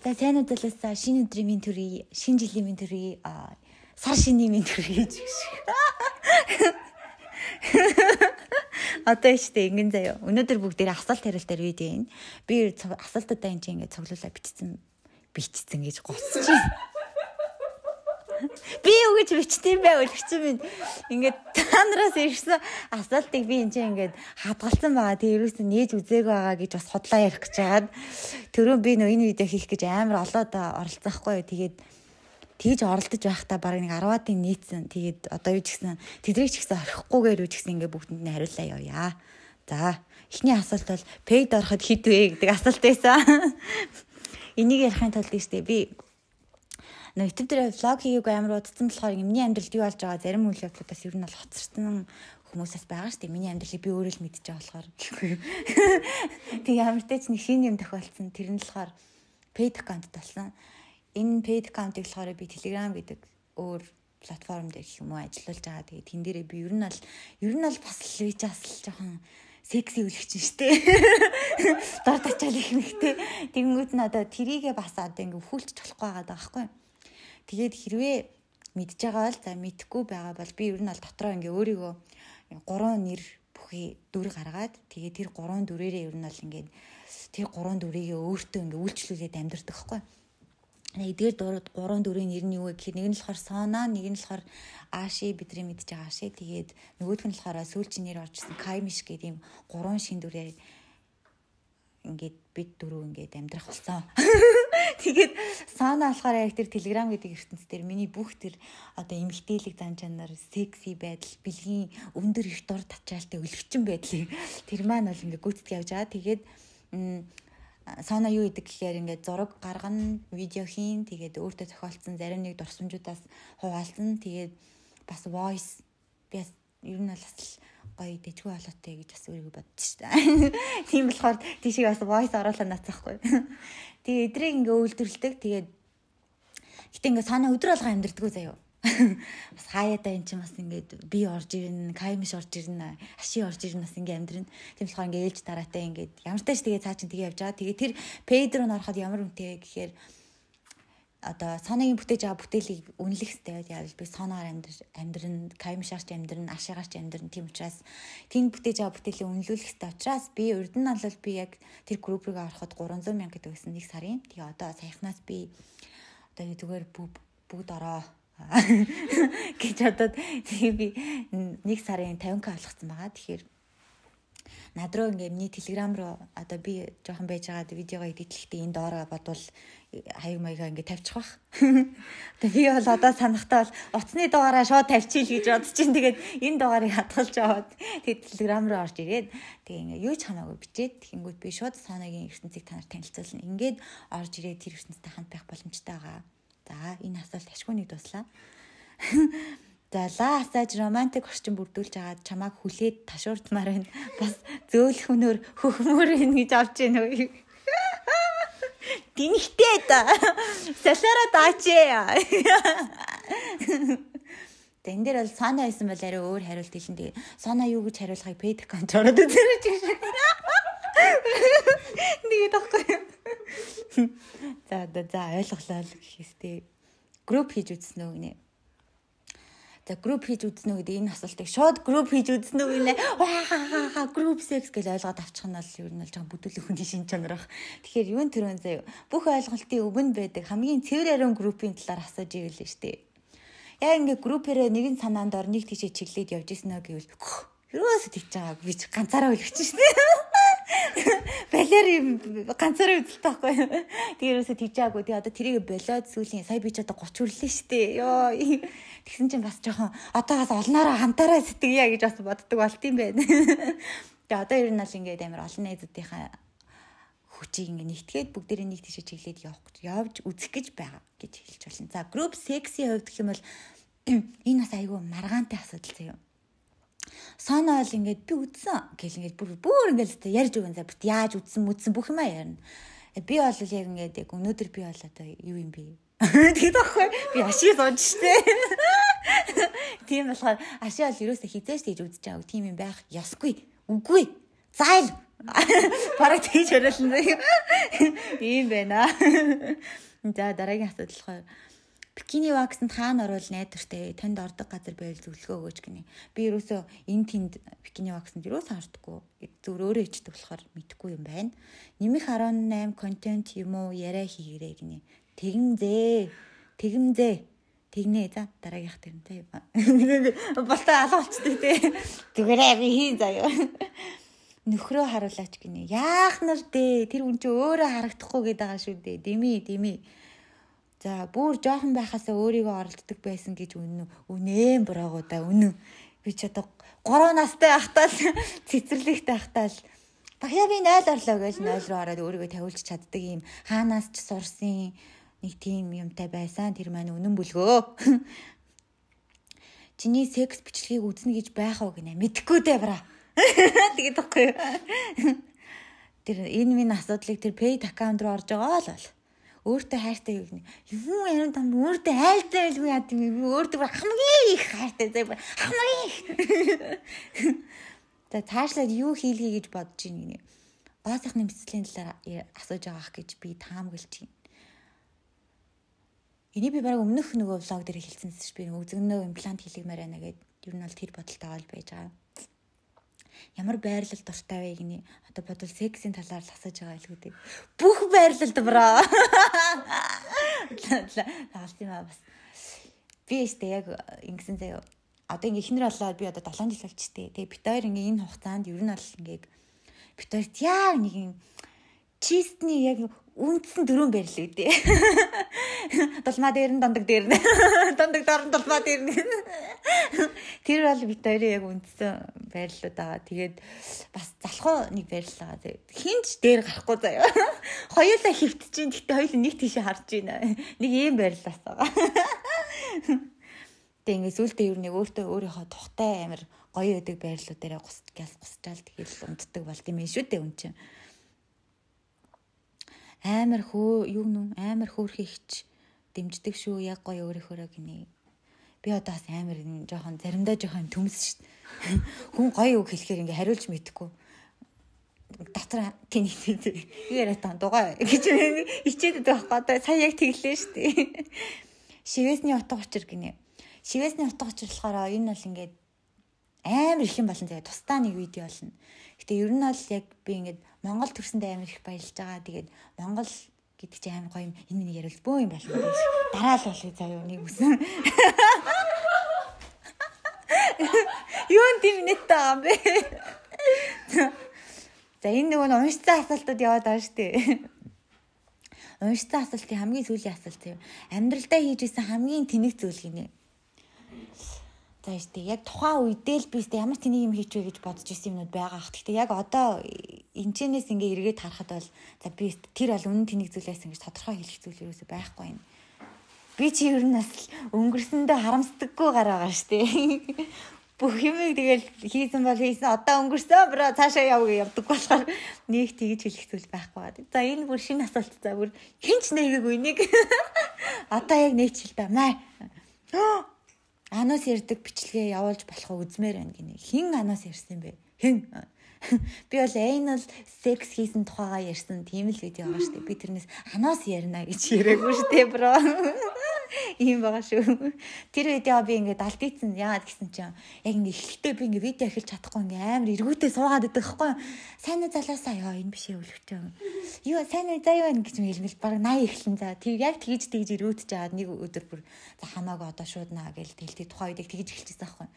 За сайн удалаасаа шинэ өдрийн минь төрөй, шинэ жилийн минь төрөй, сар шинийн минь төрөй гэж. Одоо ихтэй ингэн заяа. Өнөөдөр бүгдээрээ асуулт хариулт дээр видео юм. Би асуултуудаа энэ ингэ цуглуулаа бичсэн гэж госч байна. Би юу гэж бичсэн байвал бичсэн минь ингээд танараас ирсэн асуултыг би энэ ингээд хадгалсан байгаа. Тэгээ ерөөсөө нээж үзээг байгаа гэж бас хотлоо ярих гэж чаад түрүүн би нөө энэ видео хийх гэж амар олоод оролцсон хгүй юу. Тэгээд тэгж оролдож байхдаа баг нэг 10-аад нийцсэн. Тэгээд одоо юу ч гэсэн тэдрийг ч гэсэн орхихгүйгээр юу ч гэсэн ингээд бүгдэнд нь хариуллаа явъя. За эхний асуулт бол пейд ороход хэд вэ гэдэг асуулт байсан. Энийг ярихын тулд ихтэй би YouTube дээр влог хийгээгүй амар удацсан болохоор миний амьдралд юу болж байгаа зарим үйл явдлуудаас ер нь бол хоцорсон хүмүүсээс байгаа шүү дээ. Миний амьдралыг би өөрөө л мэдчихэж байгаа болохоор гэхгүй. Тэг ямар ч тач нэг шинэ юм тохиолдсон. Тэр нь болохоор paid account болсон. Энэ paid account-ыг болохоор би Telegram гэдэг өөр платформ дээр гэх юм уу ажиллуулж байгаа. Тэгээд тэн дээрээ би ер нь бол бас л вижаас жоохон секси үлгч штэ. Дор тачаал их нэгтэй. Тэгэнгүүт нь одоо тэрийгээ бас одоо ингээ хүлч болохгүй байгаа байхгүй. Тэгээд хэрвээ мэдж байгаа бол за мэдхгүй байгаа бол би ер нь бол дотроо ингээ өөрийгөө 3 нэр бүхий дүр гаргаад тэгээд тэр 3 дүрээрээ ер нь бол ингээ тэр 3 дүрийг өөртөө ингээ үйлчлүүлээд амьдэрдэг байхгүй. Эдгээр 3 дүрийн нэр нь юу вэ гэхээр нэг нь болохоор Сона, нэг нь болохоор Аши бидний мэдж байгаа Аши. Тэгээд нөгөөх нь болохоор сүүлчийн нэр оржсэн Каймиш гэдэг ийм 3 шин дүрээр ингээд бид дөрөв ингээд амьдрах болсон. Тэгээд Сана болохоор яг тэр Telegram гэдэг ертөнц дээр миний бүх тэр одоо эмгтээлэг зан чанар, секси байдал, бэлгийн өндөр их дор тачаалтай өлгчин байдлыг тэр маань бол ингээд гүйцэтгэж явж байгаа. Тэгээд Сана юу гэдэг гэхээр ингээд зураг гаргана, видео хийн, тэгээд өөртөө тохиолдсон зарим нэг дурсамжуудаас хуваалцсан. Тэгээд бас voice би ер нь бол гоё дэжгүй болоотой гэж бас өөрийгөө бодчих шүү дээ. Тийм болохоор тийшээ бас voice оруулаад нацахгүй. Тэгээ эдрийг ингээ үйлдвэрлэдэг. Тэгээд гэтээ ингээ Сана өдөр алга амьдэрдэггүй заяа. Бас хаяада эн чинь бас ингээд би орж ирнэ, Каймиш орж ирнэ, Аши орж ирнэ бас ингээ амьдрын. Тийм болохоор ингээ ээлж дараатай ингээд ямар тааш тэгээ цаа чин тэгээ явж байгаа. Тэгээ тэр пейд руу ороход ямар үнэтэй гэхээр одоо Санагийн бүтээж байгаа бүтээлийг үнэлэх хэрэгтэй байгаад би Санаагаар амьдрын, Каймишаарч амьдрын, Ашигаарч амьдрын. Тийм учраас тийм бүтээж байгаа бүтээлийг үнэлүүлэх хэрэгтэй учраас би урд нь бол би яг тэр групп руу ороход 300 мянга гэдэг байсан нэг сарын. Тэгээ одоо саяхнаас би одоо зүгээр бүгд ороо гэж бодоод тэгээ би нэг сарын 50к болгоцсон байгаа. Тэгэхээр над руу ингээ миний Telegram руу одоо би жоохон байж байгаа видеогоо эдитлэхдээ энэ доороо бодвол хаяг маягаа ингээ тавьчих бах. Тэгээ би бол одоо санахтаа бол утасны дугаараа шууд тавьчихъя гэж бодож чинь тэгээд энэ дугаарыг хадгалж аваад тэгээд Telegram руу орж ирээд тэгээ ингээ юу ч хамаагүй бичээд тэгэнгүүт би шууд Санагийн ертөнцийг танаар танилцуулна. Ингээд орж ирээд тэр ертөнцтэй хамт байх боломжтой байгаа. За энэ асуулт ашгүй нэг дуслаа. За лаасаж романтик орчин бүрдүүлж агаад чамааг хүлээд ташуурдмаар байна. Бас зөөлөх өнөр хөхмөр ин гэж авч яана уу. Динхтэй та. Салара даачээ. Тэн дээр бол Сана байсан бол арай өөр хариулт хэлэн. Тэгээ Сана юу гэж хариулахыг paid account ороод үзэрэж байна. Нэг тахгүй. За ойлголоо гэхээстэй групп хийж үзсэн үү гинэ. За групп хийж үзнэ гэдэг энэ асуултыг шууд групп хийж үзнэ үү нэ групп секс гэж ойлгоод авчих нь бол ер нь л жоохон бүдүүлэх хүний шин чанар баг. Тэгэхээр юун төрөн заяа бүх ойлголтын өвөнд байдаг хамгийн цэвэр ариун группийн талаар асууж ивэл л штэ. Яг ингээ группээрээ нэгэн санаанд ор нэг тийшээ чиглээд явж ирсэн нөө гэвэл юуээс тэгж байгааг би ганцаараа үлгэж штэ. Балер ганцаараа үзэлтэй байхгүй. Тэрөөсөө тэгж байгаагүй. Тэгээ одоо тэрийг болоод сүүлийн сая би ч одоо 30 хүрлээ штэ. Йоо. Тэгсэн чинь бас жоохон одоогоос олноороо хамтаараа сэтгэя гэж бас боддог болт юм байна. Тэгээ одоо ер нь л ингээд амар олон найзуудынхаа хүчийг ингээд нэгтгээд бүгдээрээ нэг тийшээ чиглээд явж үзэх гэж байгаа гэж хэлж байна. За group sexy хувьд гэх юм бол энэ бас айгүй маргаантай асуудал заяа. Сана бол ингээд би үдсэн гэл ингээд бүр ингээд ярьж өгөн за бит яаж үдсэн бүх юмаа ярина. Би бол яг ингээд яг өнөөдөр би бол одоо юу юм бэ? Тэгээд аахгүй би Ашиг сууж штэ. Тийм болохоор Ашиг бол ерөөсө хизээш тийж үдэж байгаа. Тийм юм байх ёсгүй. Үгүй. Зайл. Бараг тийж хориолсон заяа. Ийм байна. За дараагийн асуудал болохоор бикини ваксанд хаана орвол найдвартай танд ордог газар байвал зөвлөгөө өгөөч гинэ. Би ерөөсөө энэ тэнд бикини ваксанд ерөөсөө ордоггүй. Зөв өөрөө ичдэг болохоор мэдэхгүй юм байна. Нэмэх 18 контент юм уу яриа хийгэрэй гинэ. Тэгнэ за дараагийнх тэрнтэй болтой алга болчтой те. Зүгээрээ би хийн заяа. Нөхрөө харуулаач гинэ. Яах нар дээ. Тэр хүн чи өөрөө харагдахгүй гээд байгаа шүү дээ. Дими. За бүр жоохон байхасаа өөрийгөө оролддог байсан гэж үнэн бураагуу да үнэн. Би ч одоо 3 настай ахтаал цэцэрлэгтэй ахтаал багьяа би 0 орлоо гэж 0 руу ороод өөрийгөө тавиулж чаддаг юм. Хаанаас ч сурсан нэг тийм юмтай байсан. Тэр маань үнэн бүлгөө. Чиний секс бичлэгийг үзнэ гэж байх уу гинэ. Мэдхгүй дээ бра. Тэгээд тахгүй. Тэр энэ минь асуудлыг тэр paid account руу орж байгаа л бол. Өөртөө хайртай юу гэнэ. Юу юм там өөртөө хайртай байлгүй яа тийм би өөртөө хамгийн их хайртай заа хамгийн их. За цаашлаад юу хийлгэе гэж бодож ийн гинэ. Гоо сайхны мэдслийн талаар асууж байгаах гэж би таамаглаж байна. Энийг би бараг өмнөх нөгөө влог дээр хэлсэн шүү би үзэгнөө имплант хийлгэмээр байна гэд ер нь бол тэр бодолтой оол байж байгаа. Ямар байрлал дуртай вэ гинэ. Одоо бодвол сексийн талаар л асууж байгаа илүү дээ. Бүх байрлалд браа. Таалсан юм бас. Би өстэй яг ингэсэн заяа. Одоо ингээ ихнэр болоод би одоо 7 жил болчихдээ. Тэгээ бит хоёр ингээ энэ хугацаанд ер нь бол ингээ бит хоёрт яг нэг юм чистний яг үндсэн дөрөв байрлал үүдээ. Долмаа дээр нь дандаг дээр нь. Дандаг дорн долмаа дээр нь. Тэр бол бит хоёрын яг үндсэн байрлалууд байгаа. Тэгээд бас залхуу нэг байрлал байгаа. Хинч дээр гарахгүй заяа. Хоёулаа хөвтөж чинь гэхдээ хоёул нэг тийшээ харж байна. Нэг ийм байрлалаас байгаа. Тэг ингээ сүултээ юу нэг өөрийнхөө тухтай амир гоё өдөг байрлалууд дээр гусчаал тэгэл унтдаг болд юм шүү дээ үн чинь. Амар хөөрхий ихч дэмждэг шүү яг гоё өөрийнхөө гинэ. Би одоо бас амар жоохон заримдаа жоохон төмс шүү. Хүн гоё үг хэлэхээр ингээ хариулж мэдэхгүй. Дотор тэнийх яриа таа дугаа гэж хичээдэг байхгүй одоо сая яг тэглээ шүү дээ. Шивэсний утга учир гинэ. Шивэсний утга учир болохоор энэ бол ингээд амар их юм болно заяа тусдаа нэг видео болно. Гэтэ ер нь бол яг би ингээд Монгол төрсөндөө амар их баярлж байгаа. Тэгээд Монгол гэдэг чинь амар гоё юм. Энэ миний яриул бөө юм болно гэж. Дараа л болъё заяа нэг үсэн. Юу тийм нэттэй байгаа юм бэ? За энэ нөгөө уншсан асуултууд яваад байгаа шүү дээ. Уншсан асуултын хамгийн сүүлийн асуулт юм. Амьдралдаа хийж исэн хамгийн тэнэг зүйл гинэ. За штэ яг тухайн үедээ л би штэ ямар тэнийг юм хийчихвэ гэж бодож исэн юмнууд байгаа ах. Гэхдээ яг одоо энэчнээс ингээ эргээд харахад бол за би тэр бол үнэн тэнийг зүйлээс ингэж тодорхой хэлэх зүйл юусоо байхгүй юм. Би чи ер нь бас өнгөрсөндөө харамсдаггүй гараа байгаа штэ. Бүх юмыг тэгэл хийсэн бол хийсэн одоо өнгөрсөн бро цаашаа явдаг болохоор нэг тэгж хэлэх зүйл байхгүй. За энэ бүр шинэ асуулт за бүр хинч нэгээгүй нэг одоо яг нээчихэл да маа. Анаас ярддаг бичлэгээ явуулж болох үзмээр байна гинэ. Хин анаас ярьсан бэ? Хин. Би бол anal sex хийсэн тухайгаа ярьсан тийм л видео байгаа шүү дээ. Би тэрнээс анаас ярина гэж яриаггүй шүү дээ, бро. Ийм байгаа шүү. Тэр видео би ингээд алдчихсан. Яагаад гэсэн чинь яг ингээд эхлэлдээ би ингээд видео эхэлж чадахгүй ингээд амар эргүүтээ суугаад байдаг байхгүй юу? Сайн уу залаасаа ёо энэ биш өвлөгчөө. Юу сайн уу заа юу гэж хэлмэл баг 80 эхлэн за. Тэг яг тэгж эргүүтж жаад нэг өдөр бүр за хамаагүй одоо шууд наа гэж тэлтий тухайн үедээ тэгж эхэлчихсэн байхгүй юу?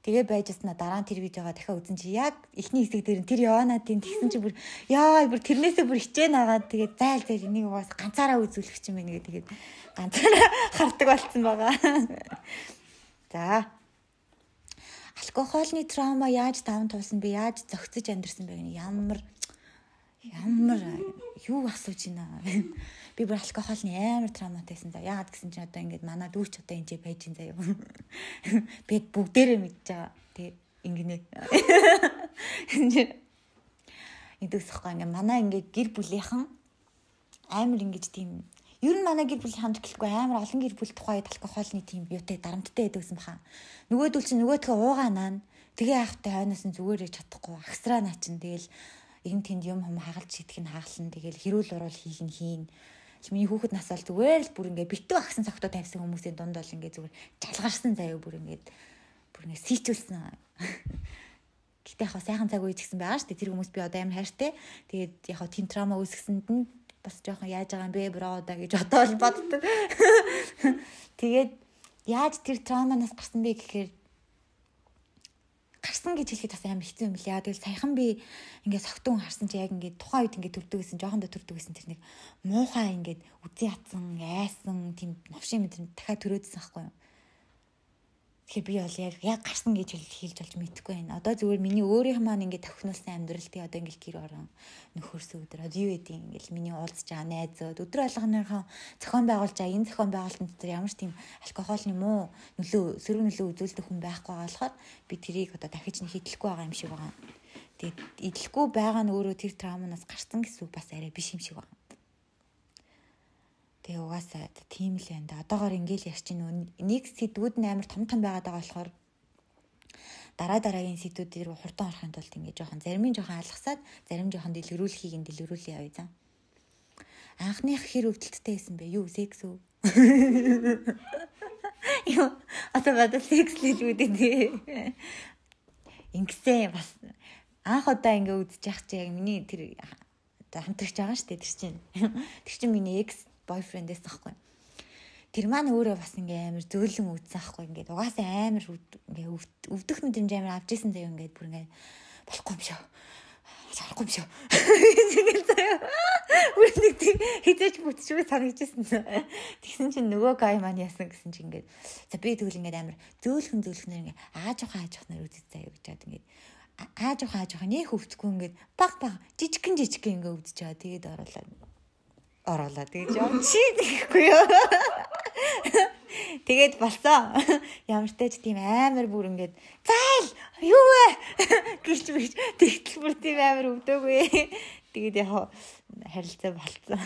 Тэгээ байжснаа дараа нь тэр видеогоо дахиад үзэн чи яг эхний хэсэг дээр нь тэр яваанатын тэгсэн чи бүр яа бүр тэрнээсээ бүр хичээн агаад тэгээ зайл энийг угаас ганцаараа үзүүлэх юм байна гэдэг ганцаараа хардаг болсон байгаа. За. Алкогольны траума яаж даван туулсан бэ? Яаж зохицож амьдрсан бэ гэнэ? Ямар юу асууж байна. Би бүр алкогольны амар травматайсан за. Яагаад гэсэн чинь одоо ингээд манай дүүч одоо энэ байж ин заяа. Би бүгдээрээ мэдж байгаа. Тэгээ ингэнэ. Идэвсэхгүй ингээд манай ингээд гэр бүлийнхэн амар ингэж тийм ер нь манай гэр бүлийн хамт гэлэхгүй амар олон гэр бүл тухайд алкогольны тийм юутай дарамттай байдагсан баха. Нөгөөдөл чинь нөгөөдхөө уугаанаа тэгээ яахтай хойноос нь зүгээр ээж чадахгүй агсраа наа чин тэгэл энэ тэнд юм хагалж идэх нь хагална. Тэгэл хэрүүл урал хийх нь хийн. Миний хүүхэд нас бол зүгээр л бүр ингээ битүү агсан цогтоо тавьсан хүмүүсийн дунд бол ингээ зүгээр жалгарсан заяа бүр ингээ сийчүүлсэн. Гэтэ яг сайхан цаг үеч гэсэн байгаа шүү дээ. Тэр хүмүүс би одоо амар хайртай. Тэгээд яг тийм трама үүсгэсэнд нь бас жоохон яаж байгаа юм бэ бро да гэж одоо л боддог. Тэгээд яаж тэр траманаас гарсан бэ гэхээр гарсан гэж хэлэхэд бас амар хэцүү юм лээ. Тэгэл саяхан би ингээд согтун харсан чи яг ингээд тухайн үед ингээд төрдөг гэсэн, жоохон төрдөг гэсэн тэр нэг муухай ингээд үзэн ятсан, айсан тийм новшин мэт дахиад төрөөдсөн байхгүй юу. Тэгэхээр би бол яг гарсан гэж хэлж болж мэдэхгүй байна. Одоо зүгээр миний өөрийнх маань ингээд тохинулсан амьдрал тий одоо ингээд гэр орон нөхөрсөн өдөр одоо юу гэдэг ингээд миний уулзж байгаа найзууд өдөр болгоныхоо зохион байгуулж байгаа энэ зохион байгуулалтын дотор ямар ч тийм алкогольны муу нөлөө сөрөг нөлөө үзүүлдэг хүн байхгүй болохоор би тэрийг одоо дахиж нэг идэлгүй байгаа юм шиг байгаа. Тэгээд идэлгүй байгаа нь өөрөө тэр травманаас гарсан гэсэн үг бас арай биш юм шиг байна. Тэгээ угаасаа тийм л байна да. Одоогоор ингээл ярьж чинь нэг сэдвүүд нь амар том байгаад байгаа болохоор дараагийн сэдвүүд рүү хурдан орохын тулд ингээд зарим нь жоохон алгасаад зарим жоохон дэлгэрүүлэхийг дэлгэрүүлээ явъя заа. Анхных хэр өвдөлттэй байсан бэ? Юу секс үү? Юу одоо бада секс л үүдээ тий. Ингэсэн бас анх удаа ингээ үдчих яах чи яг миний тэр хамтрагч байгаа шүү дээ тэр чинь. Тэр чинь миний экс бойфрендээс ахгүй. Тэр маань өөрөө бас ингээ амар зөөлөн үүдсэн ахгүй. Ингээд угаасаа амар ингээ өвдөх мэдрэмж амар авч исэн заяа ингээд бүр ингээ болохгүй юм шүү. Харахгүй юм шүү. Тэгэл заяа. Үрнэг тийм хизээч бүтчихгүй санагдчихсэн. Тэгсэн чинь нөгөө гай маань яасан гэсэн чинь ингээд за би тэгвэл ингээд амар зөөлхнээр ингээ ааж ухаанаар үзэж заяа гэж хаад ингээд ааж ухаан нэх өвдөхгүй ингээд баг жижигхэн ингээ өвдөж байгаа. Тэгээд оруулаад тэгж юм чи гэхгүй юу. Тэгээд болсон. Ямар ч тач тийм амар бүр ингээд зайл юу вэ гэж тэгтэл бүр тийм амар өвдөөгүй. Тэгээд яг харилцаа болцсон.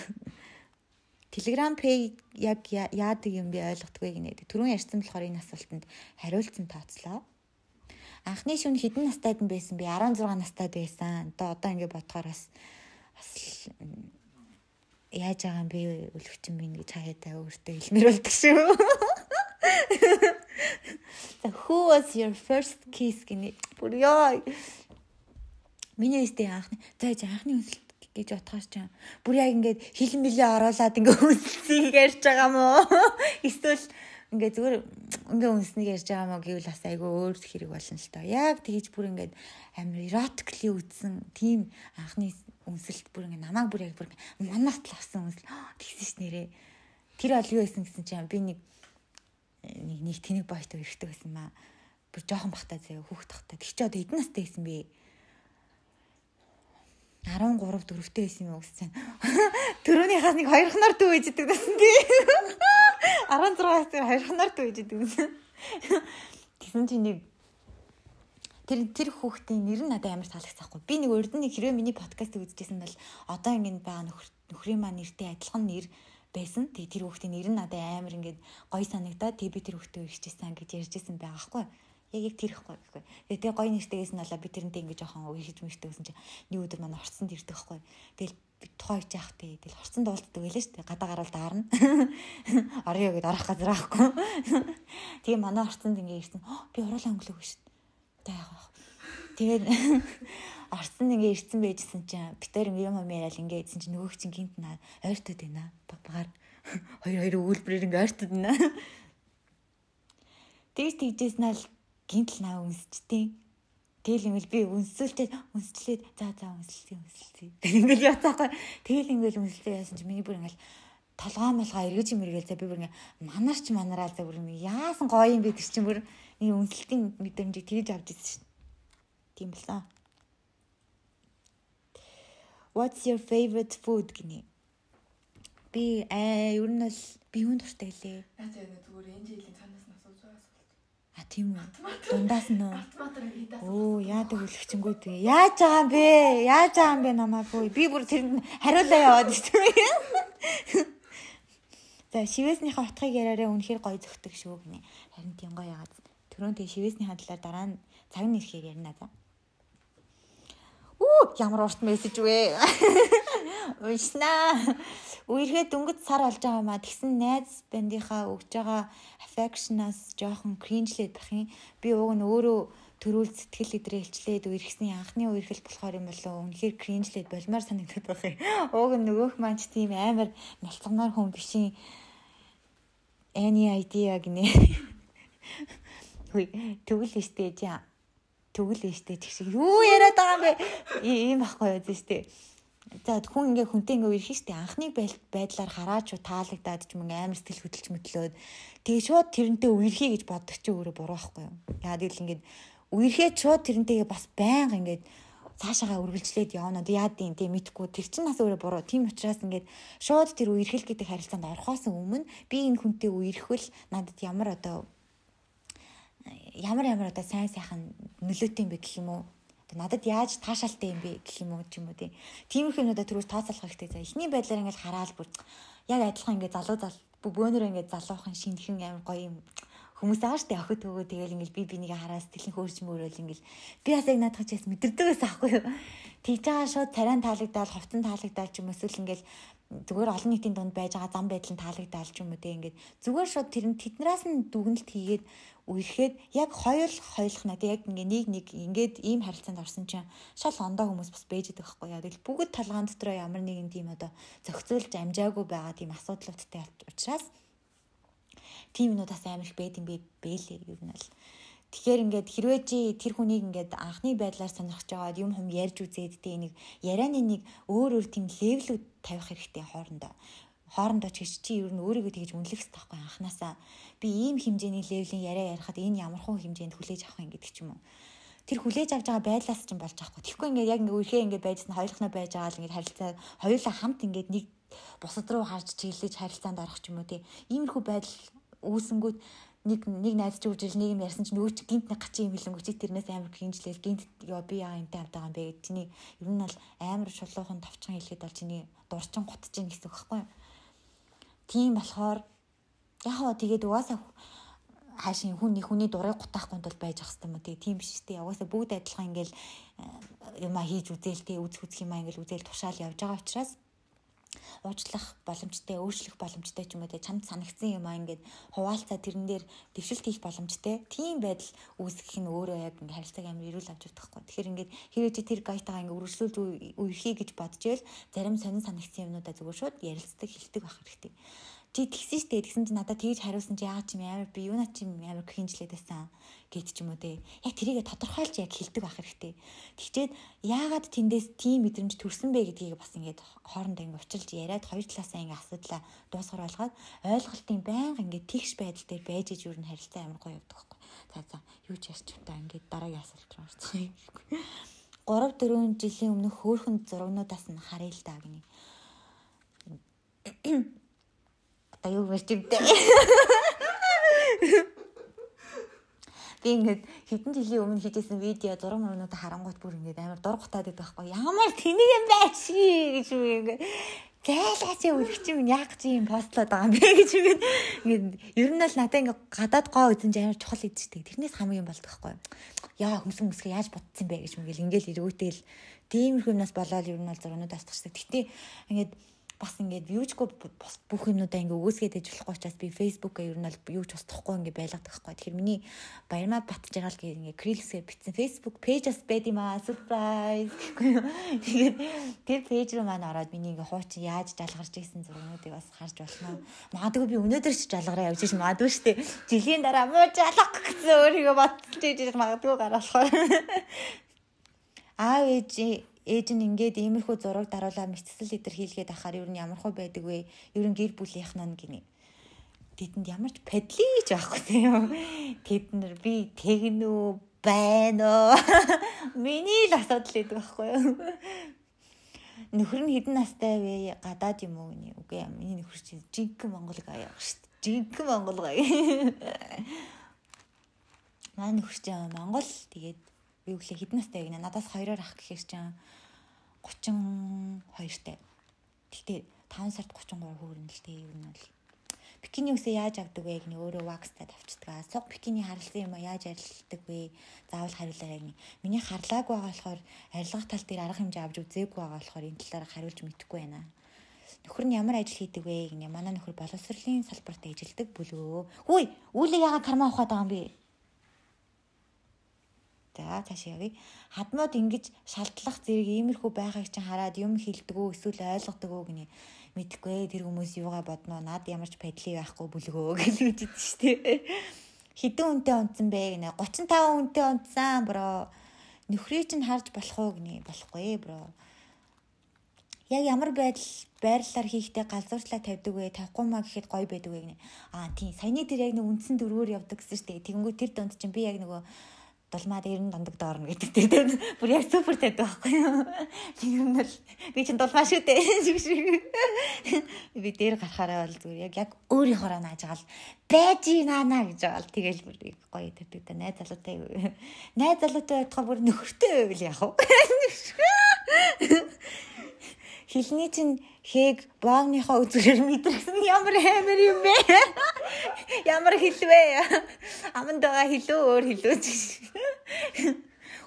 Telegram Pay яг яадаг юм би ойлгохгүй гинэ. Түрүүн ярьсан болохоор энэ асуултанд хариулцсан тооцлоо. Анхны шөнө хэдэн настайд нь байсан би 16 настайд байсан. Одоо ингээд бодохоор бас яаж байгаа юм бэ өлөгчин минь гэж хаяатаа өөртөө хэлмээр болдог шүү. Who was your first kiss гинэ. Бүр ёо. Миний өстэй анхны үнсэлт гэж бодохоор ч бүр яг ингээд хилэн мэлээ оруулаад ингээд үнсэлцгийг ярьж байгаа мó. Эсвэл ингээд зүгээр ингээд үнснийг ярьж байгаа мó гэвэл бас айгүй өөр хэрэг болно л тоо. Яг тэгэж бүр ингээд амар эротикли үзсэн тийм анхны үнсэлт бүр ингээ намайг бүр яг бүр манаас л авсан үнсэл тэгсэн ш нэрээ. Тэр бол юу байсан гэсэн чинь би нэг тэнэг бойтой өрхтэй байсан маа. Бүр жоохон бахтай заяа хүүхд тахтай. Тэг чи одоо хэдэн настай байсан бэ? 13 4-тэй байсан юм уу гэсэн. Төрөөнийхээс нэг хоёр хоноор дүү ээждэг гэсэн тий. 16-аас хоёр хоноор дүү ээждэг гэсэн. Тэгсэн чинь нэг тэр хүүхдийн нэр нь надад амар таалагдсаахгүй. Би нэг урд нь хэрвээ миний подкастыг үзчихсэн бол одоо ингээд байгаа нөхрийн маань нэртэй адилхан нэр байсан. Тэгээ тэр хүүхдийн нэр нь надад амар ингээд гоё санагдаад тэгээ би тэр хүүхдээ ирчихсэн гэж ярьжсэн байгаа байхгүй. Яг тэр ихгүй. Тэгээ гоё нэртэйгээс нь болоо би тэрнтэй ингээд жоохон үргэлж мэртэй гэсэн чинь нэг өдөр манай орцсонд ирдэг байхгүй. Тэгэл тухай хийж яах тий. Тэгэл орцсонд уулздаг байлаа шүү дээ. Гадаа гараад даарна. Орё гэд орох газар аахгүй. Тэгээ манай орцсонд ингээд ирсэн. Би уруулаа өнгөлөг шүү. Тэгээд орцсон ингээ ирсэн байжсэн чинь битэр юм яриад ингээ идсэн чинь нөгөөг чинь гинт наа ойртод байна. Багаар хоёр өгүүлбэрээр ингээ ойртод байна. Тэгжсэн нь л гинт л наа үнсчтэй. Тэгэл ингээл би үнсчлээд за үнсэлцээ. Ингээл яцаагүй. Тэгэл ингээл үнсэлцээ яасан чинь миний бүр ингээл толгоо эргэж мэргээл за би бүр ингээ манараа за бүр яасан гоё юм бэ тэр чинь бүр нэг үнсэлтийн мэдрэмжийг тэгж авч ирсэн шин. Тийм болсон. What's your favorite food гинэ? Би ер нь бол би юунд дуртай гэлээ. Яаж яа зүгээр энэ жилийн цаанаас нь асууж байгаа асуулт. Тийм үү. Дундаас нь оо яадаг өлөгчөнгүүд вэ? Яаж байгаа юм бэ намаагүй. Би бүр тэр хариулаа яваад шүү. За шивээснийхээ утгыг яриараа үнэхээр гоё зөгтөг шүү гинэ. Харин тийм гоё яагаад. Түрүүн тэг шивээснийхээ талаар дараа нь цаг нь ирэхээр ярина за. Ямар урт мессеж вэ? Уйснаа. Үерхэд дөнгөж сар болж байгаа маа тэгсэн найз бандийнхаа өгж байгаа affection-аас жоохон cringe-лээд бах юм. Би уг нь өөрөө төрүүл сэтгэл идрэлчлээд үерхсний анхны үерхэл болохоор юм болов үнэхээр cringe-лээд болмоор санагдаад байх юм. Уг нь нөгөөх маань ч тийм амар малцганаар хүн бишин any idea гинэ. Хүй тэгвэл өстэй жаа. Тэгвэл өстэй ч шиг юу яриад байгаа юм бэ? Ийм байхгүй юу зү. За хүн ингээ хүнтэй ингээ үерхэн штэ анхны байдлаар хараач таалагдаад ч юм амар сэтгэл хөдлөж мэтлөөд тэгээ шууд тэрнтэй үерхий гэж боддог чи өөрөө буруу байхгүй юу? Яа гэвэл ингээд үерхээ шууд тэрнтэйгээ бас байнга ингээд цаашаагаа үргэлжлээд явна. Яад юм тийм мэдхгүй тэр чинь бас өөрөө буруу. Тийм учраас ингээд шууд тэр үерхэл гэдэг харилцаанд орохоос өмнө би энэ хүнтэй үерхвэл надад ямар одоо сайн сайхан нөлөөтэй юм бэ гэх юм уу? Надад яаж таашаалтай юм бэ гэх юм уу ч юм уу тиймэрхүү юмудаа түрүүс тооцоолох хэрэгтэй. За эхний байдлаар ингээд хараад бүр яг адилхан ингээд залуу бөөнөрөө ингээд залуухан шинхэн амар гоё юм хүмүүс ааштай охид төгөө тэгэл ингээд би бинийгээ хараа сэтгэлийн хөөрч мөрөөл ингээд би бас яг наадах чээс мэдэрдэг байсан аахгүй юу. Тэгж байгаа шууд царайн таалагдаад ховцон таалагдаад ч юм эсвэл ингээд зүгээр олон нийтийн дунд байж байгаа зам байдлын таалагдаад ч юм уу ингээд зүгээр шууд тэднээс нь дүгнэлт хийгээд үерхэд яг хоёулах надад яг нэг ингээд ийм харилцаанд орсон чинь шал ондоо хүмүүс бас бэж идэх байхгүй яа. Тэгэл бүгд талгаан дотроо ямар нэгэн тийм одоо зохицуулж амжаагүй байгаа тийм асуудлуудтай учраас тийм юмудаас амар их байд юм бэлээ ер нь л. Тэгэхээр ингээд хэрвээ чи тэр хүнийг ингээд анхны байдлаар сонирхож байгаад юм ярьж үзээд нэг ярианы нэг өөр тийм левелүүд тавих хэрэгтэй хоорондоо чи ер нь өөрийгөө тэгж үнэлэх хэрэгтэй байхгүй анханасаа би ийм хэмжээний левелийн яриа ярихад энэ ямархан хэмжээнд хүлээж авах юм гэдэг ч юм уу. Тэр хүлээж авч байгаа байдлаас ч юм болж байгаа байхгүй. Тэгэхгүй ингээд яг ингээд үерхээ ингээд байжсан хоёулахнаа байж байгаа л ингээд харилцаа хоёулаа хамт ингээд нэг бусад руу харж чиглэж харилцаанд орох ч юм уу иймэрхүү байдал үүсэнгүүт нэг найз ч үржил нэг юм ярьсан чинь нөгөө чи гинт нэг гачин юм хэлэнгүү чи тэрнээс амар гинжлээл гинт би яа юмтай авдаг юм бэ гэдэг чиний ер нь бол амар шулуухан товчхон хэлэхэд бол чиний дурчин гутж ийн гэсэн үг байхгүй юу. Тийм болохоор яг тэгээд угаасаа хаашийн хүний дурыг гутаахгүй тул байж ах хэвээр юм тийм биш тий. Угаасаа бүгд адилхан ингээл юма хийж үзээл үз юмаа ингээл үзээл тушаал явж байгаа учраас уучлах боломжтой, өөрчлөх боломжтой ч юм уу чамд санагдсан юм аа ингээд хуваалцаа тэрэн дээр дэвшилт хийх боломжтой. Тийм байдал үүсгэх нь өөрөө яг ингээд харилцааг амар эрүүл авч явахгүй. Тэгэхээр ингээд хэрвээ чи тэр гайтагаа ингээд үргэлжлүүлж үерхий гэж бодож ивэл зарим сонин санагдсан юмнуудаа зүгээр шууд ярилцдаг, хэлдэг байх хэрэгтэй. Чи тэгсэн штэ тэгсэн чи надад тэгж хариулсан чи яагаад чи амар би юунаа чи амар хинжлээд байсан гэд ч юм уу те. Яг тэрийгэ тодорхойлж яг хэлдэг байх хэрэгтэй. Тэгчээд яагаад тэндээс тийм мэдрэмж төрсөн бэ гэдгийг бас ингээд хоорондоо ингээд училж яриад хоёр талаасаа ингээд асуудлаа дуусгар болгоод ойлголтын байнга ингээд тэгш байдал дээр байж иж юу н харилцаа амар гоё явдаг байхгүй. За юу ч ярьч та ингээд дараагийн асуулт руу орцгоё. 3-4 жилийн өмнөх хөөхөн зурагнуудаас нь харъя л да гинэ. Юу гэж юмтэй. Би ингээд хэдэн жилийн өмнө хийжсэн видео зураг мөрнүүдэ харангуут бүр ингээд амар дургутаад байдаг байхгүй. Ямар тэнийг юм байч гэж юм ингээд зайлаач үлгч юм яг чи юм постлоод байгаа юм бэ гэж ингээд ер нь л надад ингээд гадаад гоо үзэн ч амар чухал идчихдэг. Тэрнээс хамгийн болдог байхгүй. Яа хүмсгэ яаж бодсон бэ гэж мэгэл ингээд ирүүтэл тиймэрхүү юмнаас болоод ер нь бол зургнуудаас тагчдаг. Гэтэ ингээд бас ингээд вьюжгүй бүх юмнуудаа ингээд өгөөсгээд ээж болохгүй учраас би фэйсбүүкээ ер нь бол юу ч устдахгүй ингээд байлгадаг байхгүй. Тэгэхээр миний баярмаа батжгаал гэх ингээд крилсээр бичсэн фэйсбүүк пэйжс байд юм аа surprise гэхгүй юу. Тэгээд тэр пэйж рүү маань ороод миний ингээд хуучин яаж жалгарч ийсэн зургуудыг бас харж болно. Магадгүй би өнөөдөр ч жалгараа явж иш магадгүй штэ. Жилийн дараа муу жалгах гэсэн өөрийгөө бодчих гэж магадгүй гараалах. Ээж нь ингээд иймэрхүү зураг даруулаа мэдсэл идэр хийлгээд ахаар ер нь ямархуу байдаг вэ? Ер нь гэр бүлийнх нь гинэ. Тэдэнд ямар ч падли гэж байхгүй юм. Тэд нар би тэгнүү байна уу? Миний л асуудал гэдэг байхгүй юу? Нөхөр нь хэдэн настай вэ? Гадаад юм уу гинэ? Үгүй юм. Миний нөхөр чинь жинхэнэ Монгол гая шүү дээ. Жинхэнэ Монгол гая. Манай нөхөр чинь Монгол тэгээд юу гэлээ хэдэн настай вэ гинэ? Надаас 2-оор ах гэхээр чинь 32-тай. Тэгтээ 5 сард 33 хүүрнэ л дээ. Юу нь бол Бикини үсээ яаж авдаг вэ гэх нь өөрөө вакстад авчдаг. Суг бикини харлсан юм яаж арилдаг вэ? Заавал хариулаарай гэх нь. Миний харлааг байгаа болохоор арилгах тал дээр арга хэмжээ авч үзээгүй байгаа болохоор энэ талаараа хариулж мэдэхгүй байна. Нөхөр нь ямар ажил хийдэг вэ гэх нь. Манай нөхөр боловсролын салбарт ажилладаг бүлгөө. Хөөе, үүлээ яагаад кармаа ухаад байгаа юм бэ? За цаашаа явъя. Хадмууд ингэж шалтлах зэрэг иймэрхүү байхыг чинь хараад юм хэлдэг үү эсвэл ойлгодог үү гинэ. Мэдхгүй тэр хүмүүс юугаа бодноо над ямар ч байдлыг байхгүй бүлгөө гэж үздэж штэ. Хэдэн үнэтэй унтсан бэ гинэ. 35 үнэтэй унтсан бро. Нөхрийг чинь харж болох уу гинэ. Болохгүй бро. Яг ямар байрлалаар хийхдээ галзуурчлаа тавьдаг вэ? Тавихгүй маа гэхэд гоё байдаг вэ гинэ. Тийм саяны тэр яг нэг үндсэн дөрвөөр явдаг гэсэн штэ. Тэгэнгүүт тэр донд чинь би яг нөгөө дулмаад 90 дондог доорно гэдэг тийм бүр яг супер тавьдаг байхгүй юу. Тийм л би чинь дулмаа шүү дээ. Би дээр гарахаараа бол зүгээр яг өөрийнхоороо нааж байгаа л байж наана гэж байгаа л тэгэл бүр гоё тавьдаг та найз залуутай. Найз залуутай байхаа бүр нөхөртэй байвал яах вэ? Хилний чинь хээг боогныхоо үзүүрээр мэдрэгсэн ямар амар юм бэ? Ямар хэлвэ? Аманд байгаа хэлөө өөр хэлөөч.